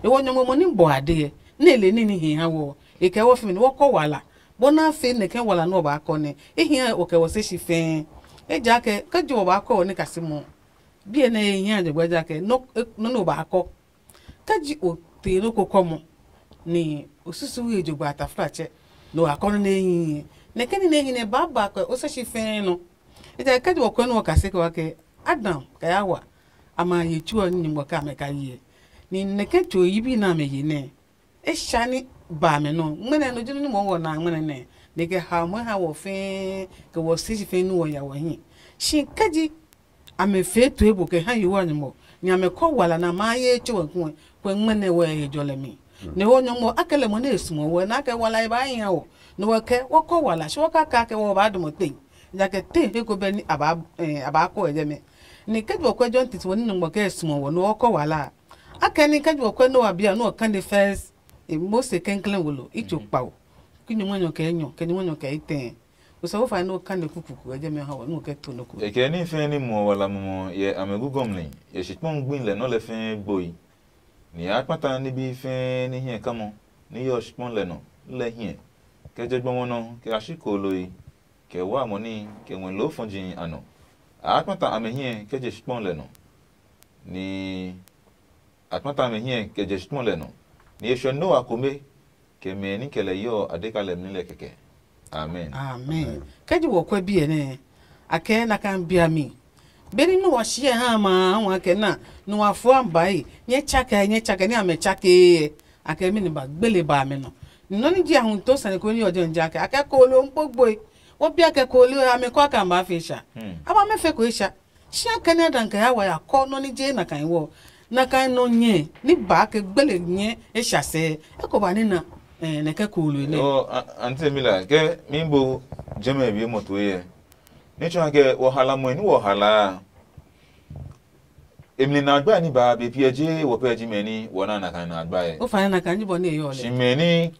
E wɔ nyɔmɔ mo ni bɔ ade ɛ. Ne le ni ni he ha wɔ. E kɛ wɔ fi mi wɔ kɔ wala. Bɔ na fe ne kɛ wala no ba kɔ ne. E hia o kɛ wɔ se shi fɛɛ. E ja kɛ kɛ jo ba kɔ ne kasi mo. Biɛ nɛ e hia jɔgbɛ ja kɛ nɔ nɔ nɔ ba kɔ. Kɛ ji o te nɔ ko kɔ mɔ ni o susu ye jɔgbɛ ataflatsɛ nɔ wa kɔ nɔ nɛ hi nɛ kɛ ni nɛ hi nɛ ba ba kɛ o sɛ shi fɛɛ nɔ. Ejaɛ kɛ ji wɔ kɔ nɔ ka se kɛ wa kɛ Adam kɛ ya wa a ma ye tsuɔ ni nyugbɔ ka mɛ ka yi ni nɛ kɛ tso yi bi na mɛ ye nɛ. E sha ni ba mɛ nɔ ngmɛnɛ no jinu ni mɔ wɔ na ngmɛnɛ nɛ ne kɛ ha mɔ ha wɔ fɛɛ kɛ wɔ se shi fɛɛ nu wɔ ya wɔ hi. Shi kɛ ji amɛ fee to ebo kɛ ha Yehowa nyɔmɔ ni amɛ kɔ wala na ma ye tso wɛ kuɛ kɛ ngmɛnɛ wɛ ye jɔ lɛ mi. Ne wo nyɔmɔ akɛ lɛ mɔ ne sumɔ wɛ na kɛ wala e ba yin o. Ne wɔ kɛ wɔ kɔ wala shi wɔ ka ka kɛ wɔ ba dɔmɔ te. Ja kɛ te he ko bɛ ni a ba eh, a ba kɔ e jɛ mɛ. Ni kɛ jɔ kɔ jɔ titi wɔ ni nyɔmɔ kɛ sumɔ wɔ ne wɔ kɔ wala. Akɛ ni kɛ jɔ kɔ Noah bia no kan the first eh, Mose kɛnklɛn wolo i tso kpao. Ki nyɔmɔ nyɔ kɛ nyɔ kɛ nyɔmɔ nyɔ kɛ itɛ. Osɔfo fa no kan de kuku ku eje me ha wa no ke to no ku. E kɛ ni fɛɛ ni muɔ wala mumɔ yɛ amɛ gugɔmli yɛ shikpɔŋ gbi lɛ nɔ lɛ fɛɛ gboi. Ni a kpata nibi fɛɛ ni hiɛ kamɔ ni yɔ shikpɔŋ lɛ nɔ lɛ hiɛ. Kɛ je gbɔmɔ nɔ kɛ a shi kooloi kɛ wa mɔ ni kɛ ngmɛ loo fɔji a nɔ. A kpata amɛ hiɛ kɛ je shikpɔŋ lɛ nɔ. Ni a kpata amɛ hiɛ kɛ je shikpɔŋ lɛ nɔ. Ni e shɔ Noa kome kɛ mɛ ni kɛ lɛ yɔ a de ka lɛ mli lɛ kɛkɛ. Amen. Amen. Kɛ ji wɔ kwɛ biɛ nɛ a kɛ na kan bia mi. Beni nu wa shi ha ma wa kɛ na nu wa fua mbai nyɛ tsakɛ nyɛ tsakɛ ni amɛ tsakɛ a kɛ mi ni ba gbele ba mɛ nɔ. Ni nɔ ni ji a hun to sane ko ni ɔjɛ nja kɛ a kɛ ko lo n kpo gboi. Wo bia kɛ koolio ɔ ya mɛ kɔ a kan ba fe sha. Hmm. A ba mɛ fe ko e sha. Shi a kɛ nɛ a dan kɛ ya wa ya kɔ nɔ ni je na kan wɔ. Na kan nɔ nyɛ ni ba ke gbele nyɛ e sha sɛ. E ko ba ni na eh, nɛ kɛ koolio nɛ. Ɔ, a- Auntie Mila, ke mi bo jɛmɛ bi mo to ye. Ni tsɔ ke wo hala mo ni wo hala. Emli na agba ni ba be piɛ je wo pɛ ji mɛ ni wo na na kan na agba ye. O fa na kan ji bɔ ni e yo Shi le. Mɛ ni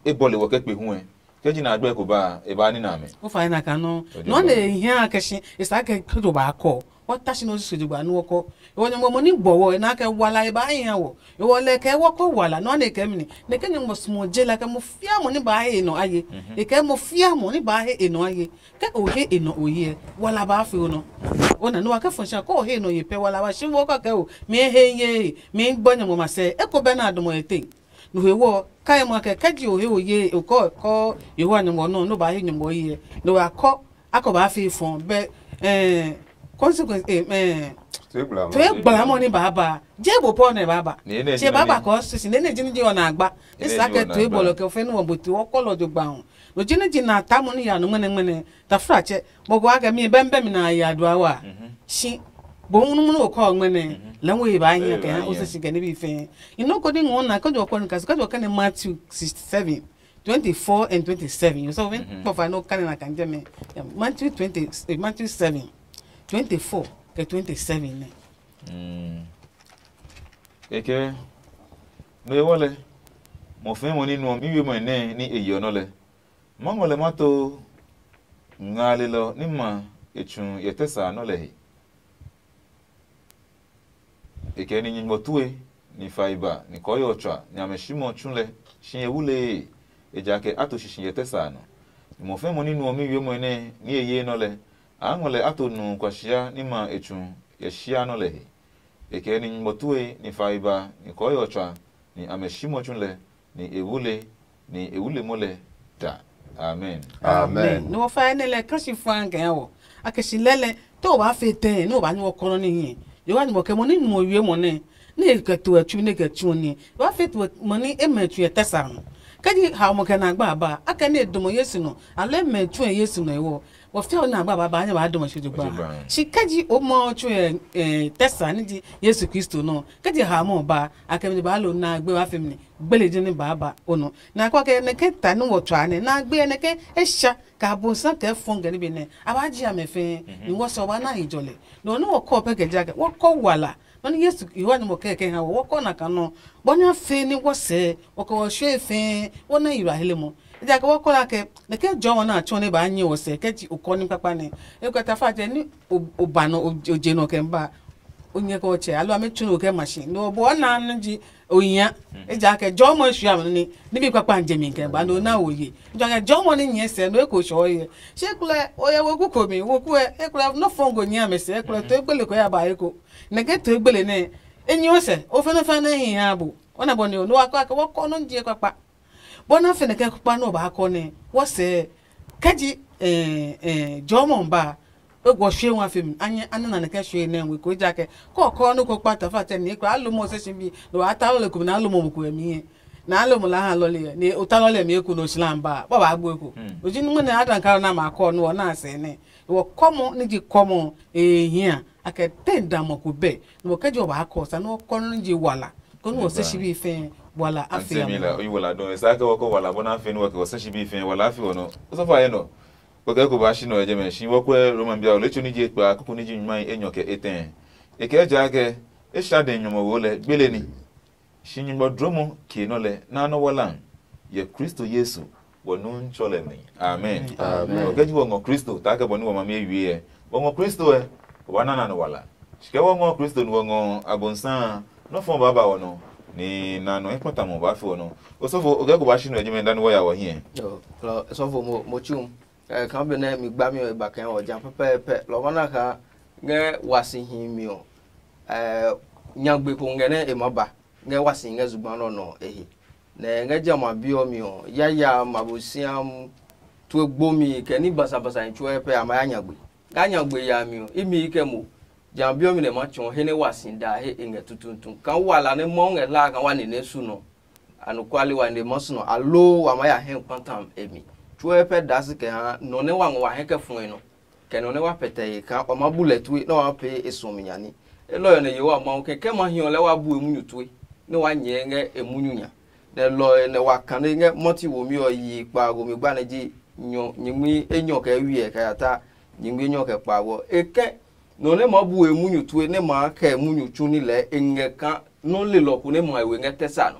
e bɔle wo ke kpe hu ɛ. Ke ji na agba ko ba e ba ni na mɛ. O fa na kan no. O je No ba. Ne hia ke shi e sa ke to ba ko. Wa ta shi no su ju ba no ko. E wo nyɔmɔ mo ni gbɔ wo e na ke wala e ba hia wo. E wo le ke wo ko wala no ne ke mi ni. Ne ke nyɔmɔ smo je la ke mo fia mo ni ba he no aye. E ke mo fia mo ni ba he e no aye. Ke o he e nɔ o ye, wala ba fe o nɔ. O na no wa ke fo sha ko o he nɔ ye pɛ wala ba shi wo ko ke o mi he ye mi gbɔ nyɔmɔ ma sɛ e ko bɛ na dɔmɔ e te. No he wo kai mo ke ke ji o he o ye o ko ko Yehowa nyɔmɔ nɔ no ba he nyɔmɔ ye. No wa ko a ko ba fe fɔn bɛ eh consequence eh eh Tue gbla to e gbala mo ni ba ba je bo po ne ba ba Ni ne che jina ba ba ni. Ko sisi ne ne jini je ona gba. Ni ne Isa je ke ona to e gba. Bolo ke fe no bo to ko lo jo gba ho. No jini jina ta mo ni ya no mene mene. Tafratsɛ, mɔgɔ akɛ mi bɛmbɛ mi na ya dua wa. Shi bo munumunu okɔ ɔgbɛ nɛ lɛ wo ye ba hiɛ kɛ ha o sɛ si kɛ ne bi fɛ. Ino ko ni ngɔ na kɔjɔ kɔ ni kasi kɔjɔ kɛ ne Matthew sixty-seven, twenty-four and twenty-seven. You saw when kpɔ fa no kane na kan jɛ mɛ. Matthew twenty, eh, Matthew seven, twenty-four kɛ twenty-seven nɛ. Kɛkɛ, no ewɔ lɛ, mɔ fɛɛ mɔ ni nuɔ mi wiemɔe nɛ ni e yeɔ nɔ lɛ. Ma ngɔ lɛ ma to ngalelɔ ni ma e tsu yɛ tɛ sa nɔ lɛ he. E kɛ ni nyingmɔ tue, ni fai ba, ni kɔɔyɔ tswa, ni amɛ shimɔ tsu lɛ, shi e wulee, ejakaa a to shishi yɛ tɛ sa nɔ. Ni mɔ fɛɛ mɔ ni nuɔ mi wiemɔe nɛ ni e ye nɔ lɛ, a ngɔ lɛ a to nu kuasia ni ma e tsu yɛ shia nɔ lɛ he. E kɛ ni nyingmɔ tue, ni fai ba, ni kɔɔyɔ tswa, ni amɛ shimɔ tsu lɛ, ni e wule, ni e wule mo lɛ da. Amen. Amen. Ni wɔ fa ne lɛ kasi fua ngɛ ya wɔ. A ke si lɛlɛ, to ba fe tɛ, no ba ni wɔ kɔnɔ ni hi. Yo wa ni mo ke mo ni mo wie mo ne. Ni ke to e chu ni ke chu ni. Wa fe to mo ni e me chu e tɛ sa no. Ke ji ha mo ke na gba ba, a ke ni do mo Yesu no. A le me chu e Yesu no e wo. Wɔ fia o na gba ba ba nya ba dɔmɔ shi jogba. Shi kɛ ji o mɔ tsu ɛ tɛsa ni ji Yesu Kristo nɔ. Kɛ ji ha mɔ ba a kɛ mi ba lo na gbe wa fɛ mi ni gbele ji ni ba ba o nɔ. Na kɔ kɛ ne kɛ ta ni wɔ tswa ne na gbe ne kɛ e sha ka bo sa kɛ fɔn gɛ ni be ne a ba ji a mɛ fɛ ni wɔ sɔ ba na hi jɔlɛ. No ni wɔ kɔ pɛ kɛ ja kɛ wɔ kɔ wala. Nɔ ni Yesu Yohane mo kɛ kɛ ha wɔ wɔ kɔ na ka nɔ. Bɔ nya fe ni wɔ sɛ wɔ kɛ wɔ shwe fe wɔ na yira hele mo. Ejakaa wɔkɔ la ke nɛ ke jɔmɔ nɛ a tsɔ nɛ baa nyɛ ɔ sɛ kɛ ji okɔ ní kpakpa nɛ. E kɛ tafa jɛ ní o ba nɔ o je nɔ kɛ ba o nyɛ kɛ ɔtsɛ alo amɛ tsu nɔ kɛ machine nɔ bɔ na nɛ ji o nya. Ejakaa jɔmɔ e sua mɛ ní ní bi kpakpa n jɛ mi kɛ ba nɔ na o ye. Ejakaa jɔmɔ ní nyɛ sɛ nɔ eko sɔ ye. Shi kulɛ o yɛ woku ko mi woku ɛ ekulɛ nɔ fɔn go nyɛ amɛ sɛ ekulɛ to egbele ko ya ba eko. Nɛ ke to egbele nɛ e nyɛ o sɛ o fɛnɛ fɛnɛ hi ha bo. Ona bɔ ni o no wa kɔ akɛ wɔkɔ nɔ je kpakpa. Bɔ na fɛnɛ kɛ kpa nɔ ba kɔ nɛ wɔsɛ kɛ ji eh eh jɔmɔ ba e gɔ shwe wa fim anye ana na kɛ shwe nɛ we ko ja kɛ kɔ kɔ no ko kpa ta fa tɛ ni ko alo mo se shi bi no ata lo le ko na alo mo ko mi ye na alo mo la ha lo le ni o ta lo le mi ko no slam ba ba ba gbo ko o ji nu ne adan ka na ma kɔ no na se ne wɔ kɔmɔ ni ji kɔmɔ eh hia akɛ te da mɔ ko bɛ no kɛ jo ba kɔ sa no kɔ no ji wala ko no se shi bi fɛ wala Anti afia Emila, mo oyi wala dɔn. Esa ke wɔkɔ wala bɔ na afei ni wɔkɛ wɔsɛ shi bi fɛɛ wala afi wɔ nɔ. Osɔfo ayɛ nɔ. Wɔkɛ ko ba shi nɔ ɛjɛ mɛ shi wɔkwɛ Roma bia ole tso ni je kpa kuku ni ji nyuma enyɔ kɛ etɛ. E kɛ ja ke e sha de nyɔmɔ wo lɛ gbele ni. Shi nyugbɔ dromɔ ke nɔ lɛ na nɔ wala. Yɛ Kristo Yesu wɔ nu ntsɔ lɛ mi. Amen. Amen. Wɔkɛ ji wɔ ngɔ Kristo ta ke bɔ ni wɔ ma mi wie. Wɔ ngɔ Kristo ɛ. Wa na na no wala. Shi kɛ wɔ ngɔ Kristo nu wɔ ngɔ abonsa. Nɔ fɔ ba ba wɔ nɔ. Ni na nɔ ekpata mo ba fi wɔ nɔ. Osɔfo o kɛ ko ba shi nɔ jime dan wɔ ya wɔ hiɛ. Yo, lo sɔfo mo mo chum. Eh kan be ne mi gba mi o ba kan o ja pɛpɛɛpɛ. Lo mana ka nge wasi hi mi o. Eh nyagbe ko nge ne e ma ba. Nge wasi nge zugba no no e he. Nɛ ngɛ jamɛ a bi ɔ mi ɔ, yaya ma bo siam tue gbomi kɛ ní basabasa nitsɔɔe pɛ a ma ya nya gbe. Ngaa nya gbe yami ɔ, imi yi kɛ mo. Jamɛ a bi ɔ mi nɛ ma tsɔɔ he nɛ wa si da he e ngɛ tutuutu. Kaa wa la nɛ Mawu ngɛ hlaa kaa wa nine su nɔ. Anɔkuale wa nine ma su nɔ, aloo wa ma ya hɛ kpata e mi. tsuɛ pɛ daa si kɛ ha nɔ nɛ wa ngɔ wa hɛ kɛ fɔe nɔ, kɛ nɔ nɛ wa pɛtɛ he kaa wa ma bu lɛ tue nɛ wa pee e suɔmi nya ní. Elɔ ɔ nɛ Yehowa Mawu kɛ ke ma hiɔ lɛ wa bu e munyu tue nɛ wa nyɛɛ ngɛ e munyu nya. Nɛ lɔ ɔ nɛ wa kane ngɛ mɔti womi ɔ yi kpaago mi gba nɛ ji nyɔ nyingmi enyɔ kɛ wiɛ kɛ ya ta nyingmi enyɔ kɛ kpaago. E kɛ nɔ nɛ ma bu e munyu tue nɛ ma kɛ e munyu tsu ní lɛɛ e ngɛ kaa nɔ lelɔ ko nɛ ma e we ngɛ tɛ sa nɔ.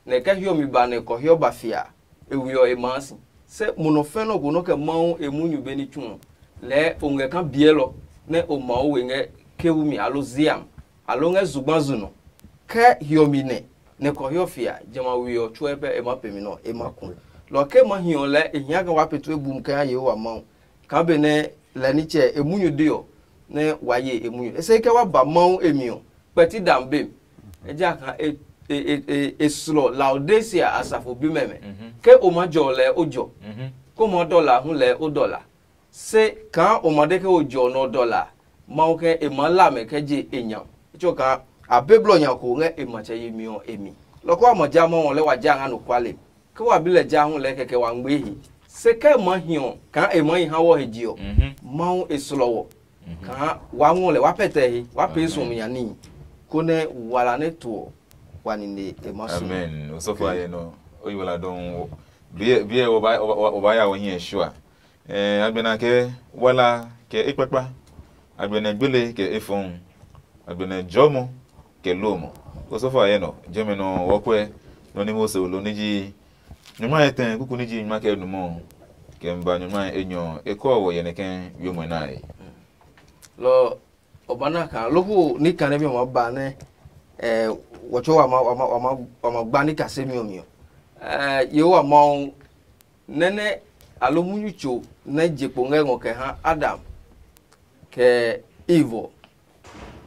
Nɛ ke hiɔmi ba nɛ kɔhiɔ ba fia, e we ɔ e maa si. Se mo nɔ fɛ̃ nɔ ko nɔ kɛ Mawu e munyu be ní tsu ɔ, lɛɛ o ngɛ kaa biɛlɔ nɛ o ma o we ngɛ kewu mi alo ziam, alo ngɛ zugba zu nɔ. Ke hiɔmi nɛ, nɛ kɔhiɔ fia, jamɛ a we ɔ tsuɛ pɛ e ma pemi nɔ e ma ku. Lɔ ke ma hi ɔ lɛɛ e hia kɛ wa pee tue bum kɛ ha Yehowa Mawu, kaa benɛ lɛ nitsɛ e munyu de ɔ, nɛ wa ye e munyu. E se ke wa ba Mawu e mi ɔ, kpɛti dam bem. Ejakaa e e e e e slɔ Laodicea asafo bimɛ mɛ. Ke o ma jɔ lɛ o jɔ, ko ma dɔla hu lɛ o dɔla. Se kaa o ma de ke o jɔ nɔ dɔla, Mawu ke e ma la mɛ kɛ je e nya. Tso kaa a be blɔ nya ko ngɛ e matsɛ yemi ɔ e mi. Lɔ ko wa ma ja Mawu ɔ lɛ wa ja nga no kwale. Ke wa bi lɛ ja hu lɛ kɛkɛ wa ngbe he. Se ke ma hi ɔ kaa e ma hi ha wɔ he je ɔ, Mawu e slɔ wɔ. Kaa wa ngɔ lɛ wa pɛtɛ he wa pee suɔmi nya níhi, konɛ wala nɛ to ɔ wa nine e ma su. Amen. Osɔfo aye nɔ, o yi wala dɔn. Biɛ biɛ o ba o ba ya o hiɛ shua. Eh, agbɛna ke wala kɛ ekpakpa, agbɛnɛ gbele kɛ efɔŋ, agbɛnɛ jɔmɔ kɛ lomɔ. Osɔfo aye nɔ, jɛmɛ nɔ wɔkwɛ nɔ ni Mose lo ni ji nyuma etɛ kuku ni ji nyuma kɛ numɔ kɛ mba nyuma enyɔ ekɔ wɔ yɛnɛ kɛ wiomɔ nae. Lɔ ɔ ba na kaa loko ní kane mi ɔ ma ba nɛ ɛ wɔtsɔ wa ma wa ma wa ma wa ma gba ní kasemi ɔ mi ɔ. Ɛ Yehowa Mawu nɛ́ nɛ alo munyu tso nɛ je kpo ngɛ ngɔ kɛ ha Adam kɛ Eve ɔ.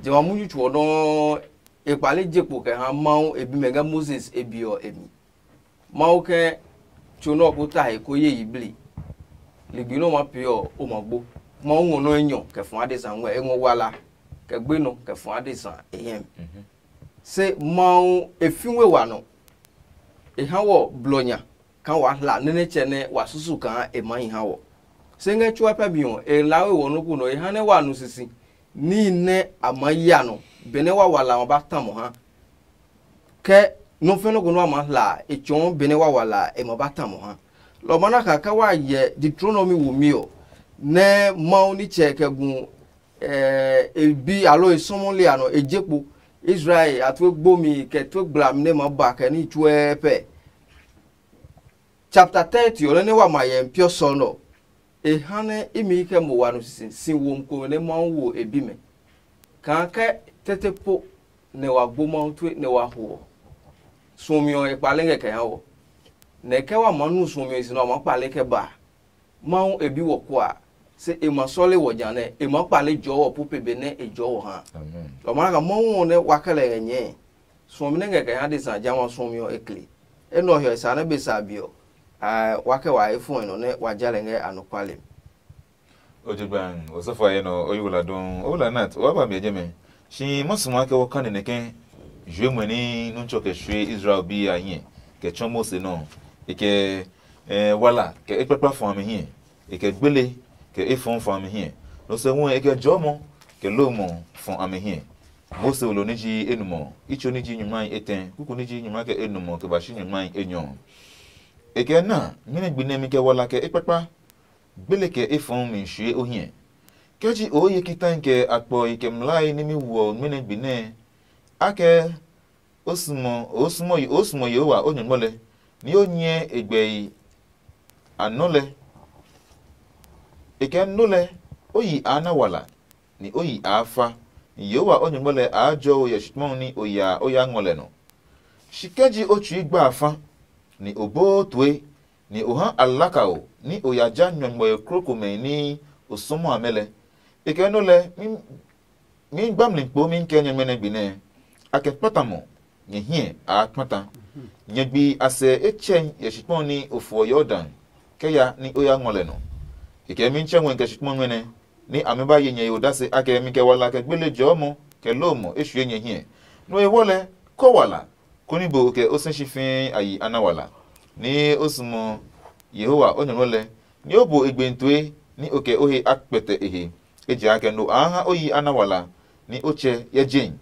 Jamɛ a munyu tso ɔ nɔuu e kpale je kpo kɛ ha Mawu e bimɛ ngɛ Moses e be ɔ e mi. Mawu ke tso nɛ ɔ ko ta he ko ye yiblii. Ligbi nɛ o ma pee ɔ, o ma gbo. Mawu ngɔ nɔ́ enyɔ kɛ fɔ adesa ngɔɛ, e ngɔ wala kɛ gbenɔ kɛ fɔ adesa e hɛm. Se Mawu e fi we wa nɔ. E ha wɔ blɔ nya kaa wa hla nɛ nitsɛ nɛ wa susu kaa e maa hi ha wɔ. Se ngɛ tsuɛ pɛ mi ɔ, e la we wɔ nɔ́ ko nɔ, e ha nɛ wa nu sisi níhi nɛ a maa ya nɔ, benɛ wa wala ɔ ba ta mɔ ha. Kɛ nɔ́ fɛ́ nɔ́ ko nɛ wa maa hla a, e tsɔɔ benɛ wa wala a, e ma ba ta mɔ ha. Lɔ ɔ maa na kaa ke wa hyɛ Deuteronomi womi ɔ, nɛ Mawu nitsɛ kɛ gu e bi alo e sɔmɔli a nɔ e je kpo Israel a tue gbomi kɛ tue gblami nɛ ma ba kɛ ní tsuɛɛ pɛ. Chapter thirty ɔ nɛ nɛ wa ma hyɛ n piɔ sɔ nɛ ɔ, e ha nɛ imi kɛ mo wa no sisi si womi komɛ nɛ Mawu wo e bimɛ. Kaa ke tete po nɛ wa gbo Mawu tue nɛ wa ho ɔ, suɔmi ɔ e kpale ngɛ kɛ ha wɔ. Nɛ ke wa maa nu suɔmi ɔ e si nɛ wa maa kpale kɛ ba a, Mawu e bi wɔ kua, se e ma sɔle wɔ ja nɛ e maa kpale jɔɔ wɔ pu pe be nɛ e jɔɔ wɔ ha. Lɔ maa ka Mawu ɔ nɛ wa kɛ lɛ ngɛ nyɛɛ. Suɔmi nɛ ngɛ kɛ ha adesa jamɛ a suɔmi ɔ e kle. Enɛ ɔ hiɔ e sa nɛ be sa be ɔ, wa kɛ wa he fuɔe nɔ nɛ wa ja lɛ ngɛ anɔkuale mi. O je gban, osɔfo a yɛ nɔ, o yi wala dɔn, o wala nat, o wa ba mi jɛmɛ. Shi ma sumaa kɛ wɔ kane nɛ kɛ jue mwe ni nuntsɔ kɛ shue Israel bi a hiɛ kɛ tsɔ Mose nɔ. E kɛ eh, wala kɛ ekpakpa fɔ a mi hiɛ. E kɛ gbele kɛ efɔɔ fɔ a mi hiɛ. No sɛ hu e kɛ jɔɔmɔ kɛ lomɔ fɔ a mi hiɛ. Mose wolo ní ji enumɔ, itso ní ji nyumahi etɛ, kuku ní ji nyuma kɛ enumɔ kɛ ba shi nyumahi enyɔ. E kɛ na, mɛnɔ gbi nɛmi kɛ wala kɛ ekpakpa, gbele kɛ efɔɔ mi shue o hiɛ. Kɛ ji o ye kitai kɛ akpɔi kɛ mlai ní mi woɔ mɛnɔ gbi nɛ, akɛ o sumo o sumo o sumo Yehowa o Nyɔngmɔ lɛ, ni o nyɛ e gbɛe a nɔ lɛ. E kɛ nɔ lɛ, o yi a na wala, ni o yi a fa, ni Yehowa o Nyɔngmɔ lɛ a jɔ o yɛ shikpɔŋ ni o ya o ya ngɔ lɛ nɔ. Shi kɛ ji o tsui gba a fa, ni o boo tue, ni o ha alakao ni o ya ja nyɔngmɔe krokomɛi ni o sɔmɔ amɛ lɛ, e kɛ nɔ lɛ mi gbamli kpo mi kɛ nyɛmɛ nɛ gbi nɛ, a kɛ kpata mɔ, nyɛ hiɛ a kpata. Nyɛ gbi a sɛ e tsɛ yɛ shikpɔn ni o fuɔ Yordan kɛ ya ni o ya ngɔ lɛ nɔ. E kɛ mi tsɛ ngɔe kɛ shikpɔn nɛ, ni amɛ ba ye nyɛ he odase akɛ mi kɛ wala kɛ gbele jɔɔmɔ kɛ lomɔ e shue nyɛ hiɛ. No e wɔ lɛ, kɔ wala, koni bo kɛ o sɛ shi fɛɛ a yi ana wala, ni o sumo Yehowa o nyɔmlɔ lɛ, nɛ o bu e gbe tue, nɛ o kɛ o he a kpɛtɛ e he. Ejakaa no a ha o yi ana wala, nɛ o tsɛ yɛ jehi,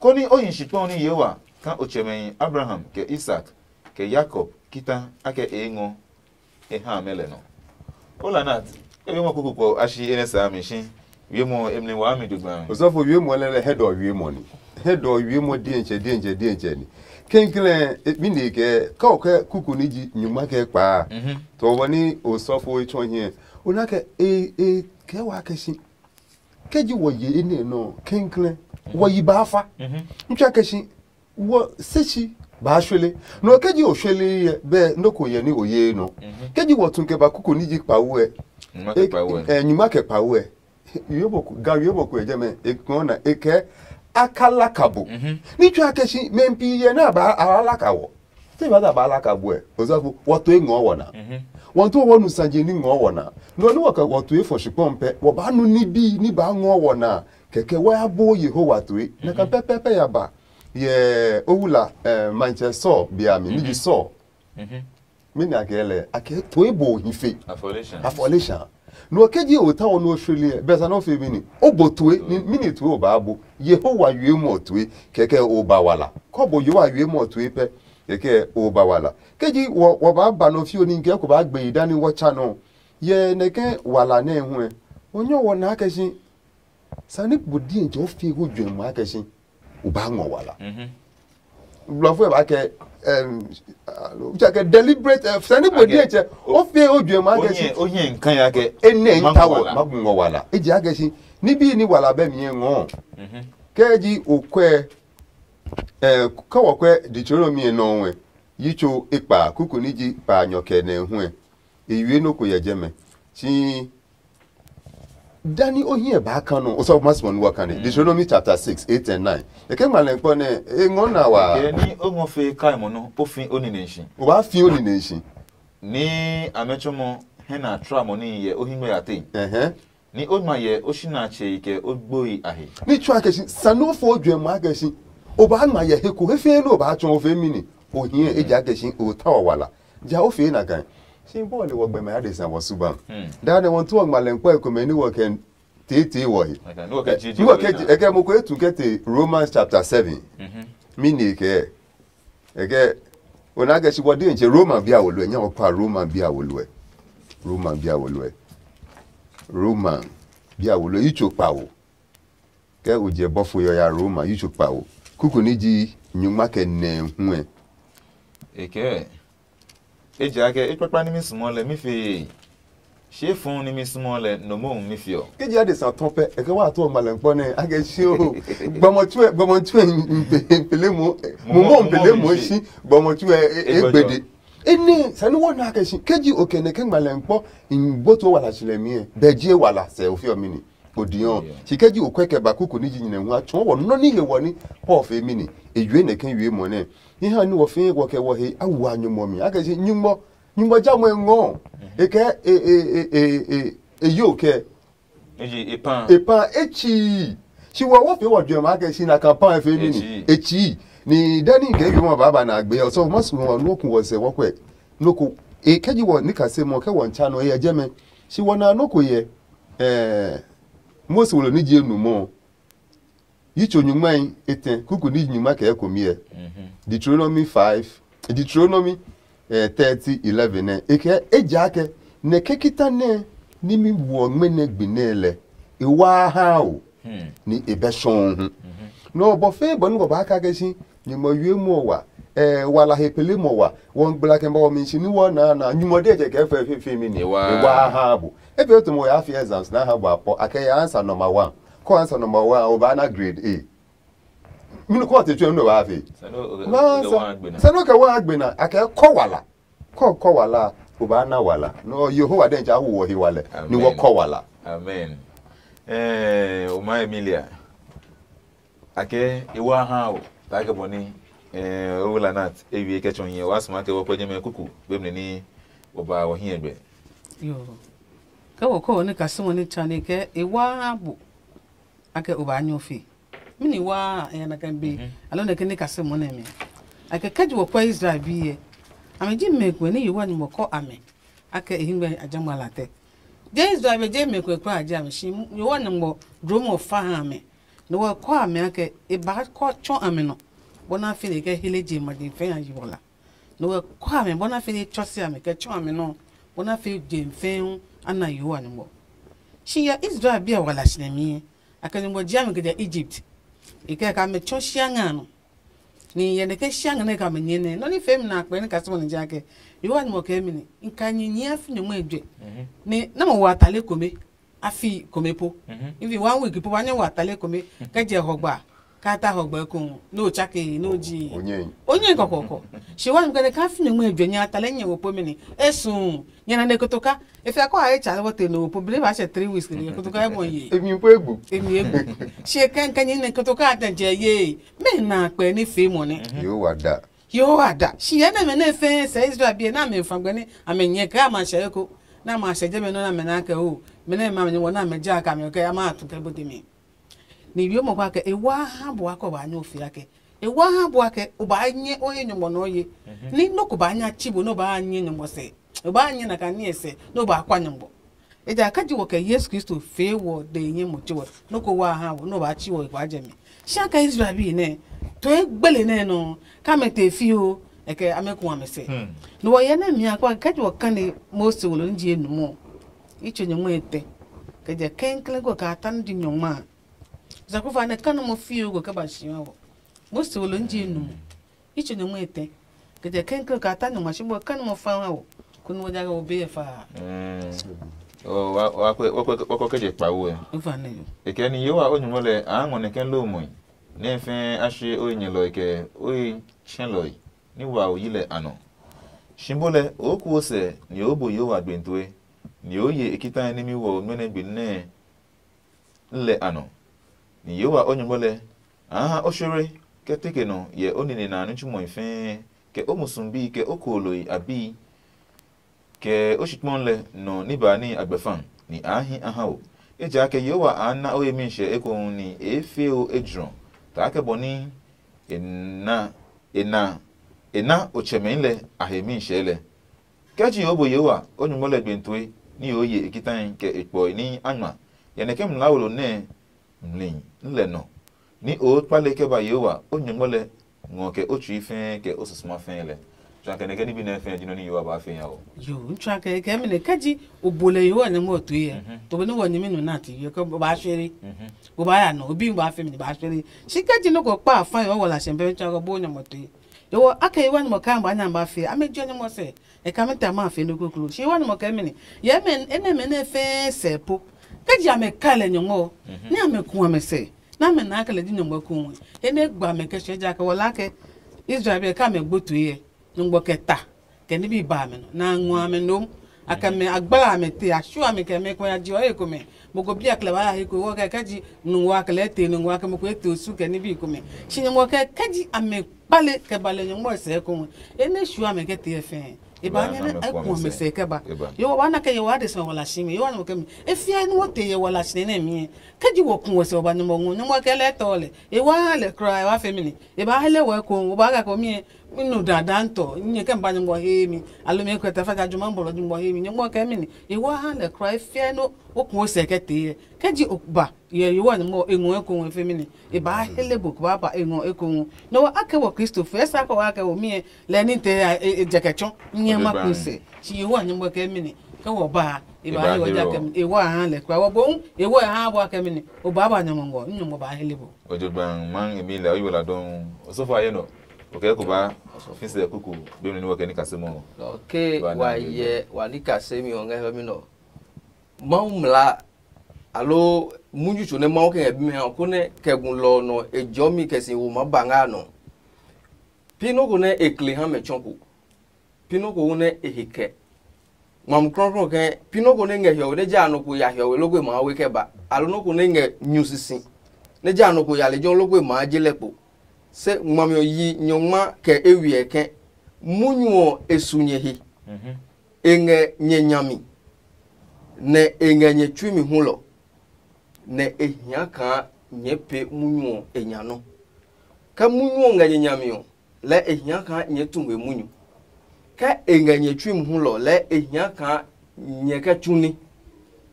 konɛ o hi shikpɔŋ nɛ Yehowa ka o tsɛmɛhi Abraham, kɛ Isak, kɛ Yakob kita akɛ e ngɔ e ha amɛ lɛ nɔ. O Lanat, e be mɔ kuku kpɔ a shi e nɛ saa mi shi. Wiemɔ emli waa mi dugba. Osɔfo, wiemɔ lɛ lɛ hɛ dɔ wiemɔ ni. Hɛ dɔ wiemɔ diɛntsɛ diɛntsɛ diɛntsɛ ni. Kɛnklɛn mi ne kɛ ka o kɛ kuku ni ji nyuma kɛ kpaa. Tɔ wɔ ni osɔfo e tsɔ hiɛ. O na kɛ e e kɛ wa kɛ shi. Kɛ ji wɔ ye e ne nɔ kɛnklɛn. Wɔ yi ba fa. N tsɛ kɛ shi. Wɔ se si baa shwele. Nɔ kɛ ji o shwele yɛ bɛ nɔ ko yɛ ni o ye nɔ. Kɛ ji wɔ tun kɛ ba kuku ni ji kpawo ɛ. Nyuma kɛ kpawo ɛ. Nyuma kɛ kpawo ɛ. Yebo ko ga yebo ko ɛ jɛ mɛ e kɔn na e kɛ aka laka bo. Ni tsɔ akɛ si mɛ pi yɛ na ba a laka wɔ. Te ba da ba laka bo ɛ. Ozafo wɔ to e ngɔ wɔ na. Wɔ to wɔ nu sanje ni ngɔ wɔ na. Nɔ ni wɔ ka wɔ to e fɔ shikpɔn pɛ wɔ ba nu ni bi ni ba ngɔ wɔ na. Kɛkɛ wɔ ya bo Yehowa to e. Na ka pɛpɛpɛ ya ba. Yɛ owula eh, manchɛ sɔ biami ni ji sɔ. Mɛni a kɛɛ lɛ a kɛɛ to e bo hi fe. Afɔle sha. Afɔle sha. No kɛ ji o ta wɔ no shweli ɛ bɛ sa no fe mini o bo to e ni mini to e o ba bo. Yehowa yue mo to e kɛkɛ o ba wala. Kɔ bo Yehowa yue mo to e pɛ kɛkɛ o ba wala. Kɛ ji wɔ wɔ ba ba no fi o ni kɛ ko ba gbe yi dani wɔ cha no. Yɛ nɛ kɛ wala nɛ hu ɛ. O nyɔ wɔ na kɛ shi. Sani bo diɛntsɛ o fi hu juɛ ma kɛ shi. O ba ngɔ wala. Blɔfo ɛ ba kɛ ɛm alo ja kɛ deliberate ɛ sani bo diɛntsɛ o fi hu juɛ ma kɛ shi. O hiɛ nkan ya kɛ. Ene n ta wɔ ma ngɔ wala. E jɛ akɛ shi. Ni bi ni wala bɛ mi ɛ ngɔ. Kɛ ji o kwɛ ɛ kɛ wɔ kwɛ Deuteronomy ɛ nɔ wɛ. Yi tso e kpa kuku ni ji kpa nyɔ kɛ nɛ hu ɛ. E yue nɔ ko yɛ jɛ mɛ. Shi Dani o hiɛ ba kan nɔ, o sɔ ma sɔ nuwa kan ne. Deuteronomy chapter six, eight and nine. E ke ngma lɛ kpɔ ne, e ngɔ na wa. Ke ni o ngɔ fe kai mo no, o fi o ni ne shi. O ba fi o ni ne shi. Ni amɛ chɔmɔ hɛ na tra mo ni yɛ o hingbe ya te. Ehɛn. Ni o ma yɛ o shi na che ke o gboi a he. Ni tsua ke shi, sanu fo jwe ma ke shi. O ba ma yɛ he ko, he fe no ba chɔn o fe mi ni. O hiɛ e ja ke shi, o ta wa wala. Ja o fee na kan. Shi bɔ le wɔ gbɛmɛ adesa wɔ suban. Da ne wɔn tuɔ ngmalɛ kpɔ ekomɛ ni wɔ kɛ tete wɔ he. Ni wɔ kɛ ji eke mo ko etu kɛ te Romans chapter seven. Mi ni ke eke ona ke shi wɔ de nche Roman bia wo lwe nya wɔ pa Roman bia wo lwe. Roman bia wo lwe. Roman bia wo lwe icho pa wo. Kɛ o je bɔfo yɔ ya Roma yi tso kpa o. Kuku ni ji nyungma kɛ nɛ hu ɛ. Eke ejaakɛ e kpakpa ni mi sumɔ lɛ mi fe. Shi e fun ni mi sumɔ lɛ no mo mi fiɔ. Ke ji adesa tɔn pɛ eke wa to ma lɛ nkpɔ nɛ a kɛ shi o. Gbɔmɔ tsuɛ gbɔmɔ tsuɛ mpele mo mo mo mpele mo shi gbɔmɔ tsuɛ egbede. Ene sani wɔ na kɛ shi ke ji o kɛ nɛ ke ngma lɛ nkpɔ ngbo to wala shi lɛ mi ɛ bɛ ji e wala sɛ o fiɔ mi ni. Odiɔ si kɛ ji okwɛ kɛ ba kuku ni ji nyinɛ hu a tsɔɔ wɔ nɔ ni he wɔ ni Paul fee mi ni e yue nɛ kɛ yue mɔ nɛ. Hi ha ni wɔ fee wɔ kɛ wɔ he a wu a nyumu mi a kɛ si nyumu nyumu ja mɔ ngɔ e kɛ e e e e e e yo kɛ Eji epan. Epan e chi si wɔ wɔ fee wɔ jue ma kɛ si na kan pan fee mi ni e chi ni dani kɛ yue mɔ baba na gbe ɔ sɔ ma su wɔ nɔ kun wɔ sɛ wɔ kwɛ nɔ ko e kɛ ji wɔ ni ka se mɔ kɛ wɔ ncha nɔ e yɛ jɛ mɛ si wɔ na nɔ ko yɛ. Ɛɛ Mose wolo ni je nu mɔ yi tso nyungma yi etɛ kuku ni nyungma kɛ ko miɛ. Deuteronomy five, Deuteronomy eh, thirty eleven nɛ e kɛ e ja kɛ nɛ ke kita nɛ ni mi wɔ ngmɛ nɛ gbi nɛ lɛ e wa ha o ni e bɛ sɔn hu. Nɔ bɔ fɛɛ bɔ ni wɔ ba ka kɛ si nyumɔ yue mɔ wa eh wala he pele mɔ wa wɔ gbla kɛ ba wɔ mi si ni wɔ na na nyumɔ de jɛ kɛ fɛ fi fi mi ni e wa ha bo. E fɛ to mo ya fi exams na ha bo apɔ a kɛ ya answer number one. Ko answer number one o ba na grade A. Mi no ko te tue no ba fi. Sɛ no kɛ wa gbena a kɛ kɔ wala. Kɔ kɔ wala o ba na wala. No Yehowa den ja wo he wala ni wo kɔ wala. Amen. Eh o ma Emilia. Ake e wa ha o ta ke boni eh o la nat e wie ke chon ye wa sma ke wo kweje me kuku be mne ni o ba wo hin egbe. Yo. Ke wo ko ni ka simo ni chani ke e wa ha bo. Ake o ba nyo fi. Mini wa e na kan be. Alo ne ke ni ka simo ne me. Ake kaji wo kwa Israel bi ye. Ame ji me kwe ni yi wa ni mo ko ame. Akɛ e hingmɛ a ja ngma latɛ. Je Israel be je mɛ kue kura a ja mi shi yo wa nyɔngmɔ dro mɔ fa ha mɛ. No wa kɔ a mɛ akɛ e ba kɔ chɔ a mɛ nɔ. Bona fi ne kɛ hele je ma din fɛ ya yi wala. No wa kɔ a mɛ bona fi ne chɔ si a mɛ kɛ chɔ a mɛ nɔ. Bona fi je fɛ hu ana yo wa nyɔngmɔ. Shi ya Israel bi a wala shi ne mi. Akɛ nyɔngmɔ ji a mɛ kɛ ja Egypt. E kɛ ka mɛ chɔ shi a nga nɔ. Ni yɛ nɛ ke shia ngɛ nɛ ka mɛ nyɛ nɛ nɔ ni fɛmi na akpɛ ni ka sɔmɔ ni ja kɛ. Yowa ni mɔ kɛ mi ni nka nyi nyi afi nyɔngmɔ ejɛ. Ni na mɔ wa tale kome afi kome po. Ivi one week po ba nyɛ wa tale kome kɛ jɛ hɔgba ka ta hɔgba ko no chake no ji. Onye kɔkɔkɔ. Shi wa ni kɛ ka fi nyɔngmɔ ejɛ nya tale nyɛ wo po mi ni esu nyɛ na ne kotoka. Efi akɔ a ye tsale wɔ te no po bile ba sɛ three weeks ni kotoka e bɔ ye. Emi po egbu. Emi egbu. Shi kɛnkɛn ni kotoka a tɛ jɛ ye. Mɛ na kpɛ ni fe mɔ nɛ. Yehowa da. Yehowa da. Shi yɛ nɛ mɛ nɛ fɛɛ sɛ Israel bi nɛ amɛ fa gbɛ ni amɛ nyɛ kɛ ama sɛ eko. Na ma sɛ jɛ mɛ nɔ na mɛ na kɛ o. Mɛ nɛ ma mɛ wɔ na mɛ ja ka mɛ kɛ ama tu kɛ bote mi. Ni wiɔ mɔ kwa kɛ e wa ha bua kɔ ba nyɔ fia kɛ. E wa ha bua kɛ o ba nyɛ o ye nyɔmɔ nɔ ye. Ni no ko ba nya chi bo no ba nyɛ nyɔmɔ sɛ. O ba nyɛ na ka ni sɛ no ba kwa nyɔmɔ. Ejakaa ji wɔ kɛ Yesu Kristo fee wɔ de nyɛ mo tsi wɔ, nɔ́ ko wa ha wɔ, nɔ́ ba tsi wɔ kwa jɛ mi. Shi a kɛ Israel bi nɛ, to e gbele nɛ nɔ, ka mɛ te fi o, e kɛ amɛ ku amɛ sɛ. No wɔ yɛ nɛ mi a kwa kɛ ji wɔ kane Mose wo lo nji e nu mo. I tso nyɔngma e tɛ. Kɛ jɛ kɛnklɛn ko ka ta ni di nyɔngma. Zakufa nɛ kanu mo fi o ko kɛ ba shi wɔ. Mose wo lo nji e nu mo. I tso nyɔngma e tɛ. Kɛ jɛ kɛnklɛn ka ta nyɔngma shi bɔ kanu mo fa ha o. Kunu wɔ ja kɛ wo be e fa. Wakɔ kɛ je kpa wo ɛ. Ufa ne yo. Ekɛ ni yewa o nyumo lɛ a ngɔ nɛ kɛ lo mɔi. Nɛ fɛɛ a she o nyɛlɔi kɛ o tsɛlɔi ni wa o yi lɛ a nɔ. Shi bo lɛ o ku o sɛ ni o bo yewa gbentoe. Ni o ye e kita nimi wɔ o nɔ́ nɛ gbe nɛ lɛ a nɔ. Ni Yehowa o Nyɔngma lɛ a ha o sore kɛ teke nɔ yɛ o nine na a nitsumɔe fɛɛ, kɛ o musu bii, kɛ o kooloi a bii, kɛ o shikpɔn lɛ nɔ ní ba ní a gbɛfa, ni a hi a ha o. Ejakaa Yehowa a na o he mi hyɛ ekohu, ni e fee o ejrɔ, kaa kɛ bɔ ní e na e na e na o tsɛmɛi lɛ a he mi hyɛ lɛ. Kɛ ji o bo Yehowa o Nyɔngma lɛ gbentoe ní o ye e kitai kɛ e kpɔe ní a ngma, yɛ nɛ ke mlaa wo lo nɛ mli lɛ nɔ, ní o kpale kɛ ba Yehowa o Nyɔngma lɛ ngɔ kɛ o tsui fɛɛ kɛ o susuma fɛɛ lɛ. Tsuakɛ nɛ kɛ ní bi nɛ fɛɛ ji nɔ ní Yehowa baa fɛɛ nya o. Yo, n tsua kɛ kɛ mi ne kɛ ji o bo lɛ Yehowa Nyɔngma o tue yɛ. To bo ni wɔ nyimi nu na ti yɛ kɛ o baa shwere. O baa ya nɔ, o bi baa fɛ mi baa shwere. Shi kɛ ji nɔ ko kpa fa yɛ o wɔ la sɛn bɛ tsua ko bo Nyɔngma tue. Yo, a kɛ Yehowa Nyɔngma ka ba nya ba fɛ. A mɛ ji Nyɔngma sɛ. E ka mɛ ta ma fe no koklo. Shi wa ni mo kɛ mɛ ni. Ye mɛ ene mɛ ne fe sɛ po. Ke ji ame ka lɛ nyɔngɔ. Ne ame ku ame sɛ. Na ame na kɛ lɛ di nyɔngɔ ku. Ene gba mɛ kɛ shi ja kɛ wala kɛ Israel be ka mɛ gbotu ye. Nyɔngɔ kɛ ta. Kɛ ni bi ba mɛ no. Na ngɔ ame nom. Aka mɛ agbala ame te a shu ame kɛ mɛ ko ya ji o e ko mɛ. Mo ko bia kle ba ya he ko wo kɛ kɛ ji nu wa kɛ lɛ te nu wa kɛ mo ko e te osu kɛ ni bi ko mɛ. Shi nyɔngɔ kɛ kɛ ji ame kpale kɛ ba lɛ nyɔngmɔ sɛ ko. Ene shu ame kɛ te fɛ. E ba nyɛ ne ai ku ame sɛ kɛ ba. Yo wa na kɛ ye wa de sɛ wala shi mi. Yo wa no kɛ mi. E fia ni wo te ye wala shi ne mi. Kɛ ji wo ku wo sɛ ba nyɔngmɔ ngo nyɔngmɔ kɛ lɛ tɔ lɛ. E wa ha lɛ kra e wa fɛ mi ni. E ba hele wo ko wo ba ka ko mi. Mi nu dandan tɔ. Nyɛ kɛ ba nyɔngmɔ he mi. Alo mi kɛ ta fa ja juma bɔlɔ nyɔngmɔ he mi. Nyɔngmɔ kɛ mi ni. E wa ha lɛ kra e fia no wo ku wo sɛ kɛ te ye. Kɛ ji o ba. Yɛ Yehowa Nyɔngmɔ e ngɔ eko ngɔ e fe mɛni? E ba hele bo ko ba ba e ngɔ eko ngɔ. Nɔ wa akɛ wɔ Kristo fɛ sa kɔ wa akɛ wɔ miɛ lɛ ni te ya e jɛkɛ tsɔ nyɛ ma kun se. Shi Yehowa Nyɔngmɔ kɛ mɛni? Kɛ wɔ ba e ba he wɔ ja kɛ mɛni? E wa ha lɛ kura wɔ bo e wɔ ha wɔ akɛ mɛni? O ba ba Nyɔngmɔ ngɔ Nyɔngmɔ ba hele bo. Ojogban man emi lɛ oyi wala dɔn. Osofo aye nɔ. Okɛ ko ba fi sɛ kuku be ni wɔ kɛ ni kase mɔ. Okay, wa yɛ wa ni kase mi ɔ ngɛ hɛ mi nɔ. Mawu mla alo munyu tso nɛ Mawu kɛ ngɛ bimɛ ha ɔ, konɛ kɛ gu lɔ ɔ nɔ e jɔmi kɛ si wo maa ba ngɛ a nɔ. Pi nɔ́ ko nɛ e kle ha mɛ tsɔ̃ ko. Pi nɔ́ ko hu nɛ e he kɛ. Ngmami klɔuklɔu kɛɛ, pi nɔ́ ko nɛ ngɛ hiɔwe nɛ jɛ a nɔ ko ya hiɔwe loko e maa we kɛ ba, alo nɔ́ ko nɛ ngɛ nyu sisi nɛ jɛ a nɔ ko ya lejɛ ɔ loko e maa je lɛ kpo. Se ngmami ɔ yi nyɔngma kɛ e wiɛ kɛ, munyu ɔ e su nyɛ he. E ngɛ nyɛ nya mi, nɛ e ngɛ nyɛ tsui mi hulɔ, nɛ e hia kaa nyɛɛ pee munyu ɔ e nya nɔ́. Ke munyu ɔ ngɛ nyɛ nya mi ɔ, lɛɛ e hia kaa nyɛɛ tu ngmɛ munyu. Ke e ngɛ nyɛ tsui mi hulɔ lɛɛ e hia kaa nyɛ kɛ tsu ní.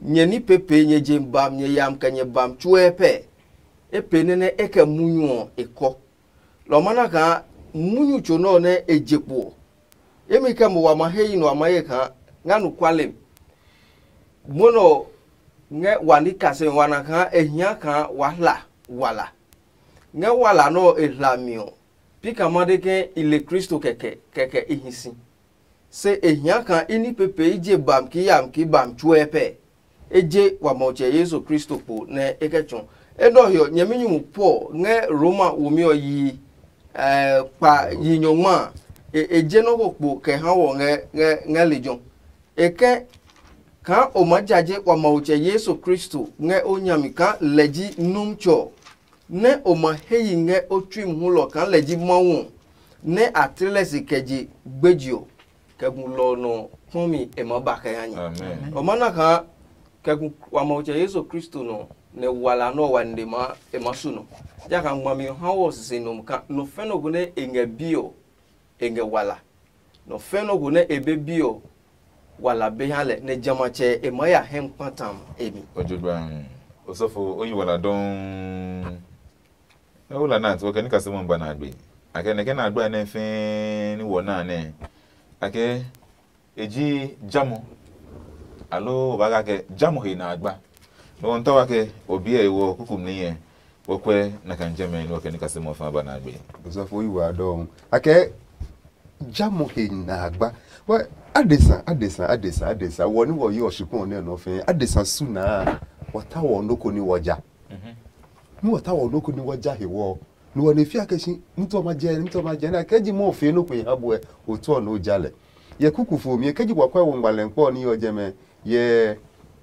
Nyɛ ní peepee nyɛ je bam nyɛ yam kɛ nyɛ bam tsuɛ pɛ. E pee nɛ nɛ e kɛ munyu ɔ e kɔ. Lɔ ɔ ma na kaa munyu tso nɛ ɔ nɛ e je kpo ɔ, emi kɛ mo wa ma he yi nɔ a ma ye kaa nga nu kuale mi. Mwɔnɛ ɔ ngɛ wa ní kasemi wa na kaa e hia kaa wa hla wala. Ngɛ wala nɛ ɔ e hla mi ɔ, pi kaa ma de ke i le Kristo kɛkɛ, kɛkɛ i hi si. Se e hia kaa i ní peepee i je bam kii yam kii bam tsuɛ pɛ. E je wa Matsɛ Yesu Kristo kpo nɛ e kɛ tsɔ. Enɛ ɔ he ɔ, nyɛminyumu Paul ngɛ Roma womi ɔ yi, eh, kpa yi nyɔngma a, e, e je nɔ́ ko kpo kɛ ha wɔ ngɛ, ngɛ, ngɛ lejɛ ɔ. E kɛ kaa o maa jaje wa Matsɛ Yesu Kristo ngɛ o nya mi kaa lɛ ji Nuntsɔ ɔ, nɛ o ma he yi ngɛ o tsui mi hulɔ kaa lɛ ji Mawu ɔ, nɛ a tle lɛ si kɛ je gbeji ɔ, kɛ gu lɔ ɔ nɔ kpɔmi e maa ba kɛ ha nyɛ. Amen. O ma na kaa kɛ gu wa Matsɛ Yesu Kristo nɔ, nɛ wala nɛ ɔ wa nine maa e maa su nɔ. Jakaa ngmami ɔ ha wɔ sisi nɔ kaa nɔ fɛ nɔ ko nɛ e ngɛ bi ɔ, e ngɛ wala. Nɔ fɛ nɔ ko nɛ e be bi ɔ, wala be ha lɛ, nɛ jamɛatsɛ e maa ya hɛ kpata e mi. Ojogbaŋ, osɔfo, o yi wala dɔŋŋ. Nɛ o la nat, o kɛ ni kasɛmɛ ba na gbe. A kɛ nɛ kɛ na gba nɛ fɛɛ ni wɔ na nɛ. A kɛ e ji jamɔ. Alo o ba ga kɛ jamɔ he na agba. No on tawa kɛ o biɛ e wɔ kuku mli yɛ. Wo kwɛ na kan jɛmɛ ni o kɛ ni kasɛmɛ fa ba na gbe. Osɔfo yi wa dɔŋ. A kɛ jamɔ he na agba. Wɛ adesa, adesa, adesa, adesa. Wɔ ni wɔ yi ɔ shikpɔn nɛ nɔ fɛɛ. Adesa su na. Wɔ ta wɔ noko ni wɔ ja. Ni wɔ ta wɔ noko ni wɔ ja he wɔ. Ni wɔ ne fia kɛ si, mutɔ ma jɛ, mutɔ ma jɛ na kɛ ji mɔ fe noko ha buɛ. O tɔ no ja lɛ. Yɛ kuku fo mi kɛ ji wɔ kwɛ wɔ ngbalɛ kpɔ ni yɔ jɛmɛ. Yɛ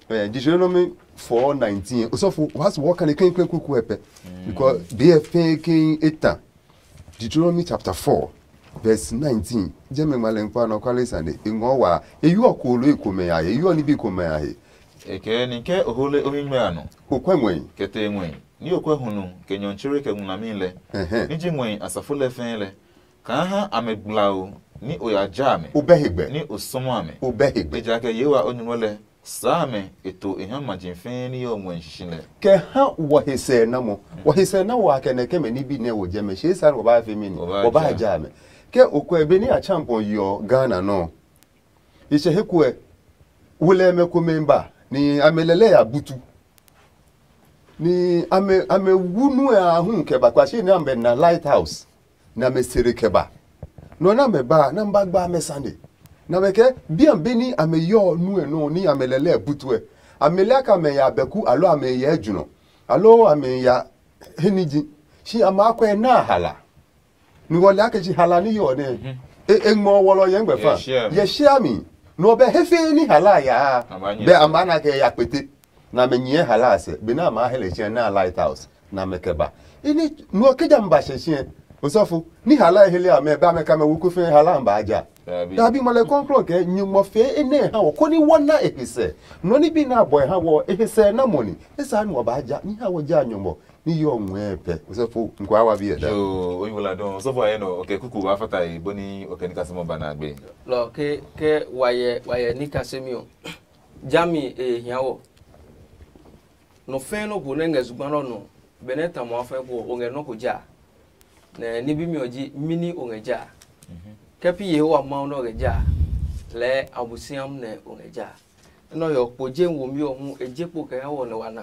eh, Deuteronomy four nineteen. Osɔfo, wa su wɔ kane kɛn kɛn kuku ɛ pɛ. Because be fɛɛ kɛn eta. Deuteronomy chapter four, verse nineteen. Jɛmɛ ngmalɛ kpɔ nɔ kwale sane. E ngɔ wa. E yɔ ko lo e ko mɛ ya. E yɔ ni bi ko mɛ ya he. E kɛ ni kɛ o hole o mi ngmɛ a nɔ. O kwɛ ngwɛi. Kɛ te ngwɛi. Ni o kwɛ hunu kɛ nyɔntsere kɛ ngulami lɛ. Ɛhɛn. Ni ji ngwɛi asafo lɛ fɛɛ lɛ. Kaa ha amɛ gblao ni o ya ja amɛ. O bɛ he gbɛ. Ni o sɔmɔ amɛ. O bɛ he gbɛ. Ejakaa Yehowa o nyumu lɛ saa amɛ e to e ha maji fɛɛ ni yɔ ngmɔ shishi lɛ. Kɛ ha wɔ he sɛ na mɔ. Wɔ he sɛ na wɔ a kɛ nɛ kɛ mɛ ni bi nɛ wo jɛ mɛ shi sa wɔ ba fe mi ni. Wɔ ba ja amɛ. Kɛ o kwɛ be ni a champion yɔ Ghana nɔ. I hyɛ he kuɛ, wolɛmɛ komɛ ba, ni amɛ lɛlɛ ya butu. Ni amɛ amɛ wu nu ɛ a hu kɛ ba kpa shi ni amɛ na light house, ni amɛ sere kɛ ba. Nɔ ni amɛ ba, na ba gba amɛ sane. Na amɛ kɛ bian be ni amɛ yɔ nu ɛ nɔ ni amɛ lɛlɛ butu ɛ. Amɛ lɛ ka amɛ ya bɛku alo amɛ ya ejunɔ, alo amɛ ya he niji. Shi amɛ akwɛ na hala. Ni wɔle ake ji hala ni yɔ nɛ. E e ngmɔ wɔlɔ yɛ ngbɛ fa. Yɛ shia mi. Yɛ shia mi. No bɛ he fe ni hala ya. Bɛ a ma na kɛ ya kpete. Na me nyɛ hala sɛ. Be na ma hele chɛ na light house. Na me kɛ ba. Ini no ke jam ba shɛ shɛ. Osɔfo, ni hala hele a mɛ ba me ka me wuku fe hala ba ja. Dabi mɔlɛ kɔnkrɔn kɛ nyugbɔ fe ene ha wɔ koni wɔna e he sɛ. No ni bi na bɔ ha wɔ e he sɛ na mɔni. Esa ni wɔ ba ja ni ha wɔ ja nyugbɔ. Ni yɔ ngmɛɛ pɛ. Osɔfo, nkɔ awa bi ɛ da. Yo, oyin wala dɔn. Osɔfo ayɛ nɔ, okɛ kuku wa fata yi boni okɛ ni kasɛmɔ ba na gbe. Lɔ ke ke wayɛ wayɛ ni kasɛmi o. Jami e hia wɔ. Nɔ fɛn nɔ ko nɛ ngɛ zugba nɔ nɔ. Benɛ tamɔ afɛ ko o ngɛ nɔ ko ja. Nɛ ni bi mi ɔ ji mini o ngɛ ja. Kɛ pi Yehowa Mawu nɔ ngɛ ja. Lɛ abusiam nɛ o ngɛ ja. Enɔ yɔ kpo je womi ɔ hu e je kpo kɛ ha wɔ nɛ wa na.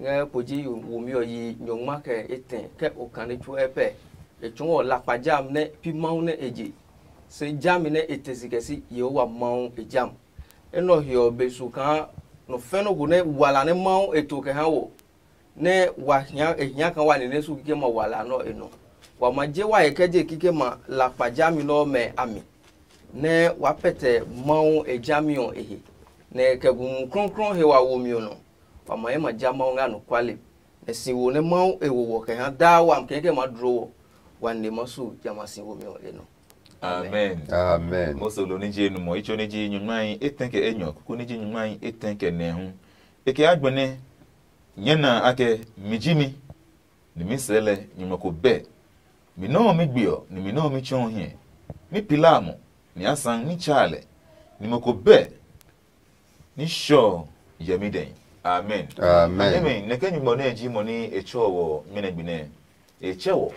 Ngɛ kpoji womi ɔ yi nyɔngma kɛ etɛ kɛ okane tsuɛ pɛ. E tsɔɔ lakpa jam nɛ pi Mawu nɛ e je. Se jami nɛ e te si kɛ si Yehowa Mawu e jam. Enɛ ɔ he ɔ be su kaa nɔ fɛnɛ ko nɛ wala nɛ Mawu e to kɛ ha wɔ, nɛ wa hia e hia kaa wa nine su kikɛmɛ wala nɛ ɔ e nɔ. Wa ma je wa he kɛ je kikɛmɛ lakpa jami nɛ ɔmɛ a mi, nɛ wa pɛtɛ Mawu e jami ɔ e he, nɛ kɛ gu Mumi Klɔuklɔu he wa womi ɔ nɔ. Wa ma ye ma ja Mawu ngɛ anɔkuale, nɛ si wo nɛ Mawu e wo wɔ kɛ ha daa wami kɛkɛ ma dlo wɔ, wa nine ma su jamɛ a si womi ɔ e nɔ. Amen. Amen. Mose lo ni ji enumɔ, itso ni ji nyuŋmahi etɛ kɛ enyɔ, kuku ni ji nyuŋmahi etɛ kɛ nɛ hu. E kɛ agbɛnɛ nyɛ na akɛ mi ji mi, ni mi sɛɛ lɛ nyumu ko bɛ. Mi nɔ́ ɔ mi gbe ɔ, ni mi nɔ́ ɔ mi tsɔɔ hiɛ. Mi pila mo, ni a sã ní tsaa lɛ, ni mo ko bɛ ní shɔ ɔ yɛmi dɛ. Amen. Amen. Amen. Nɛkɛ nyugbɔ nɛ ji mɔ ní e tsɔ wɔ mɛnɛ gbi nɛ. E tsɛ wɔ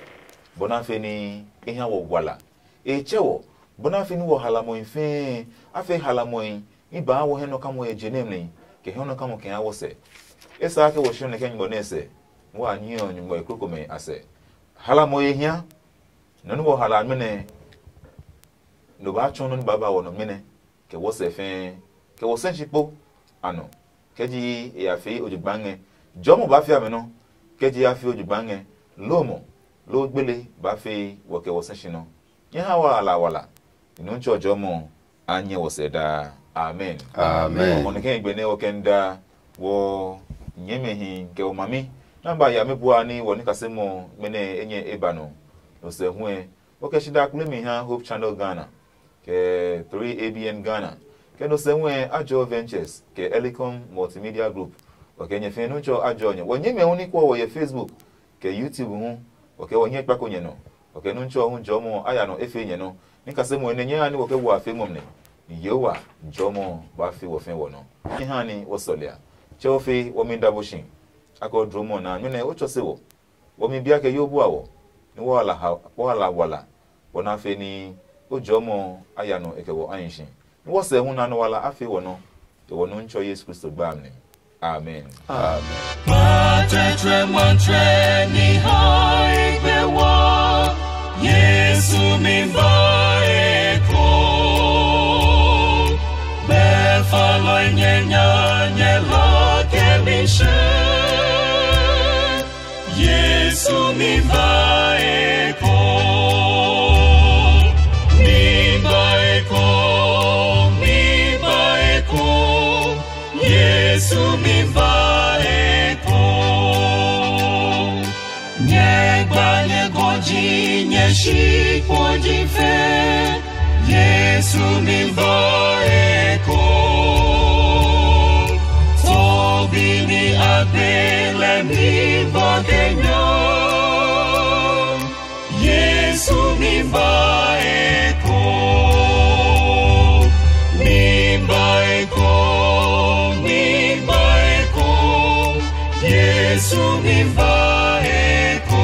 bɔ nɛ a fe ní e ha wɔ wala. E tsɛ wɔ bɔ nɛ a fe ní wɔ halamɔi fɛɛ a fe halamɔi ní baa wɔ hɛ nɔ kamɔ yɛ je nɛ mli kɛ hɛ nɔ kamɔ kɛ ha wɔ sɛ. E sa ke wɔ shɔ nɛkɛ nyugbɔ nɛ sɛ, wa nyi ɔ nyugbɔ e krokomɛ a sɛ. Halamɔi e hia nɔ ní wɔ hala mɛnɛ no baa tsɔ nɔ ní baa ba wɔ nɔ mɛnɛ kɛ wɔ sɛ fɛɛ kɛ wɔ sɛ tsi kpo a nɔ. Kɛ ji e ya fee ojogba ngɛ, jɔmɔ baa fia mɛ nɔ. Kɛ ji ya fee ojogba ngɛ, lomɔ loo gbele baa fee wɔ kɛ wɔ sɛ tsi nɔ. Nyɛ ha wa ala wala. Nɔmtsɛ jɔmɔ a nyɛ wɔ sɛ daa. Amen. Amen. Ɔmɔ ne kɛ gbe ne wɔ kɛ nda wɔ nyɛmɛ hi kɛ wɔ mami na ba ya me bua ni wɔ ni kase mo mene enye e ba no. No se hu e wɔ kɛ shi da kule mi ha Hope Channel Ghana kɛ three A B N Ghana kɛ no se hu e Ajo Ventures kɛ Elicom Multimedia Group. Wɔ kɛ nyɛ fɛ nu cho ajo nyɛ wɔ nyɛmɛ hu ni kɔ wɔ ye Facebook kɛ YouTube hu. Wɔ kɛ wɔ nyɛ kpako nyɛ no. Wɔ kɛ nu cho hu jɔmɔ a ya no efe nyɛ no. Ni kase mo ne nyɛ ha ni wɔ kɛ wɔ afe mo ne. Ni Yehowa jɔmɔ ba fe wɔ fɛ wɔ no. Ni ha ni wɔ sɔlia. Che wɔ fe wɔ mi da bo shi. Akɔ dromɔ na nyɔ ne o cho se wɔ. Wɔmi bia kɛ yo bua wɔ, nɛ wɔhala wala, bɔ nɛ a fe ní o jɔmɔ a ya nɔ e kɛ wɔ ahi si. Nɛ wɔsɛ hu nɛ anɔwala a fe wɔ nɔ, kɛ wɔ Nuntsɔ Yesu Kristo gba a mi. Amen. Amen. Matɛtrɛ matɛ ni hai gbe wɔ, Yesu mi ba e ko. Be fa lɔ nyɛ nya nyɛ la kɛ mi she. Yesu mi ba e ko, mi ba e ko, mi ba e ko, Yesu mi ba e ko. Nyɛ gba nyɛ gɔji nyɛ shi kpo ji fe. Yesu mi ba e ko. Tobi ni a gbe lɛ mi ba kɛ nya. Yesu mi ba e ko. Mi ba e ko. Mi ba e ko. Yesu mi ba e ko.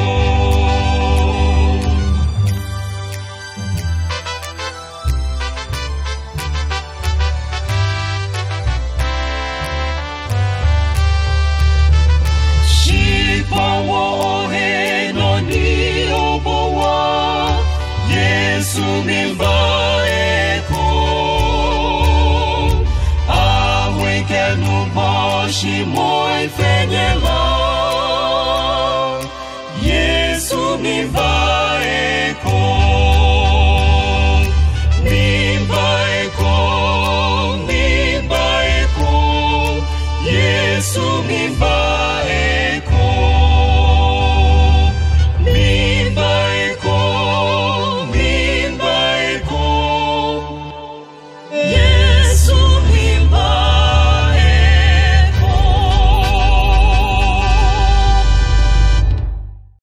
Shikpɔwɔ o he nɔ ni o po wa, Yesu mi ba e ko. A hui kɛ nu bɔ shi moi fɛ nyɛ la. Yesu mi ba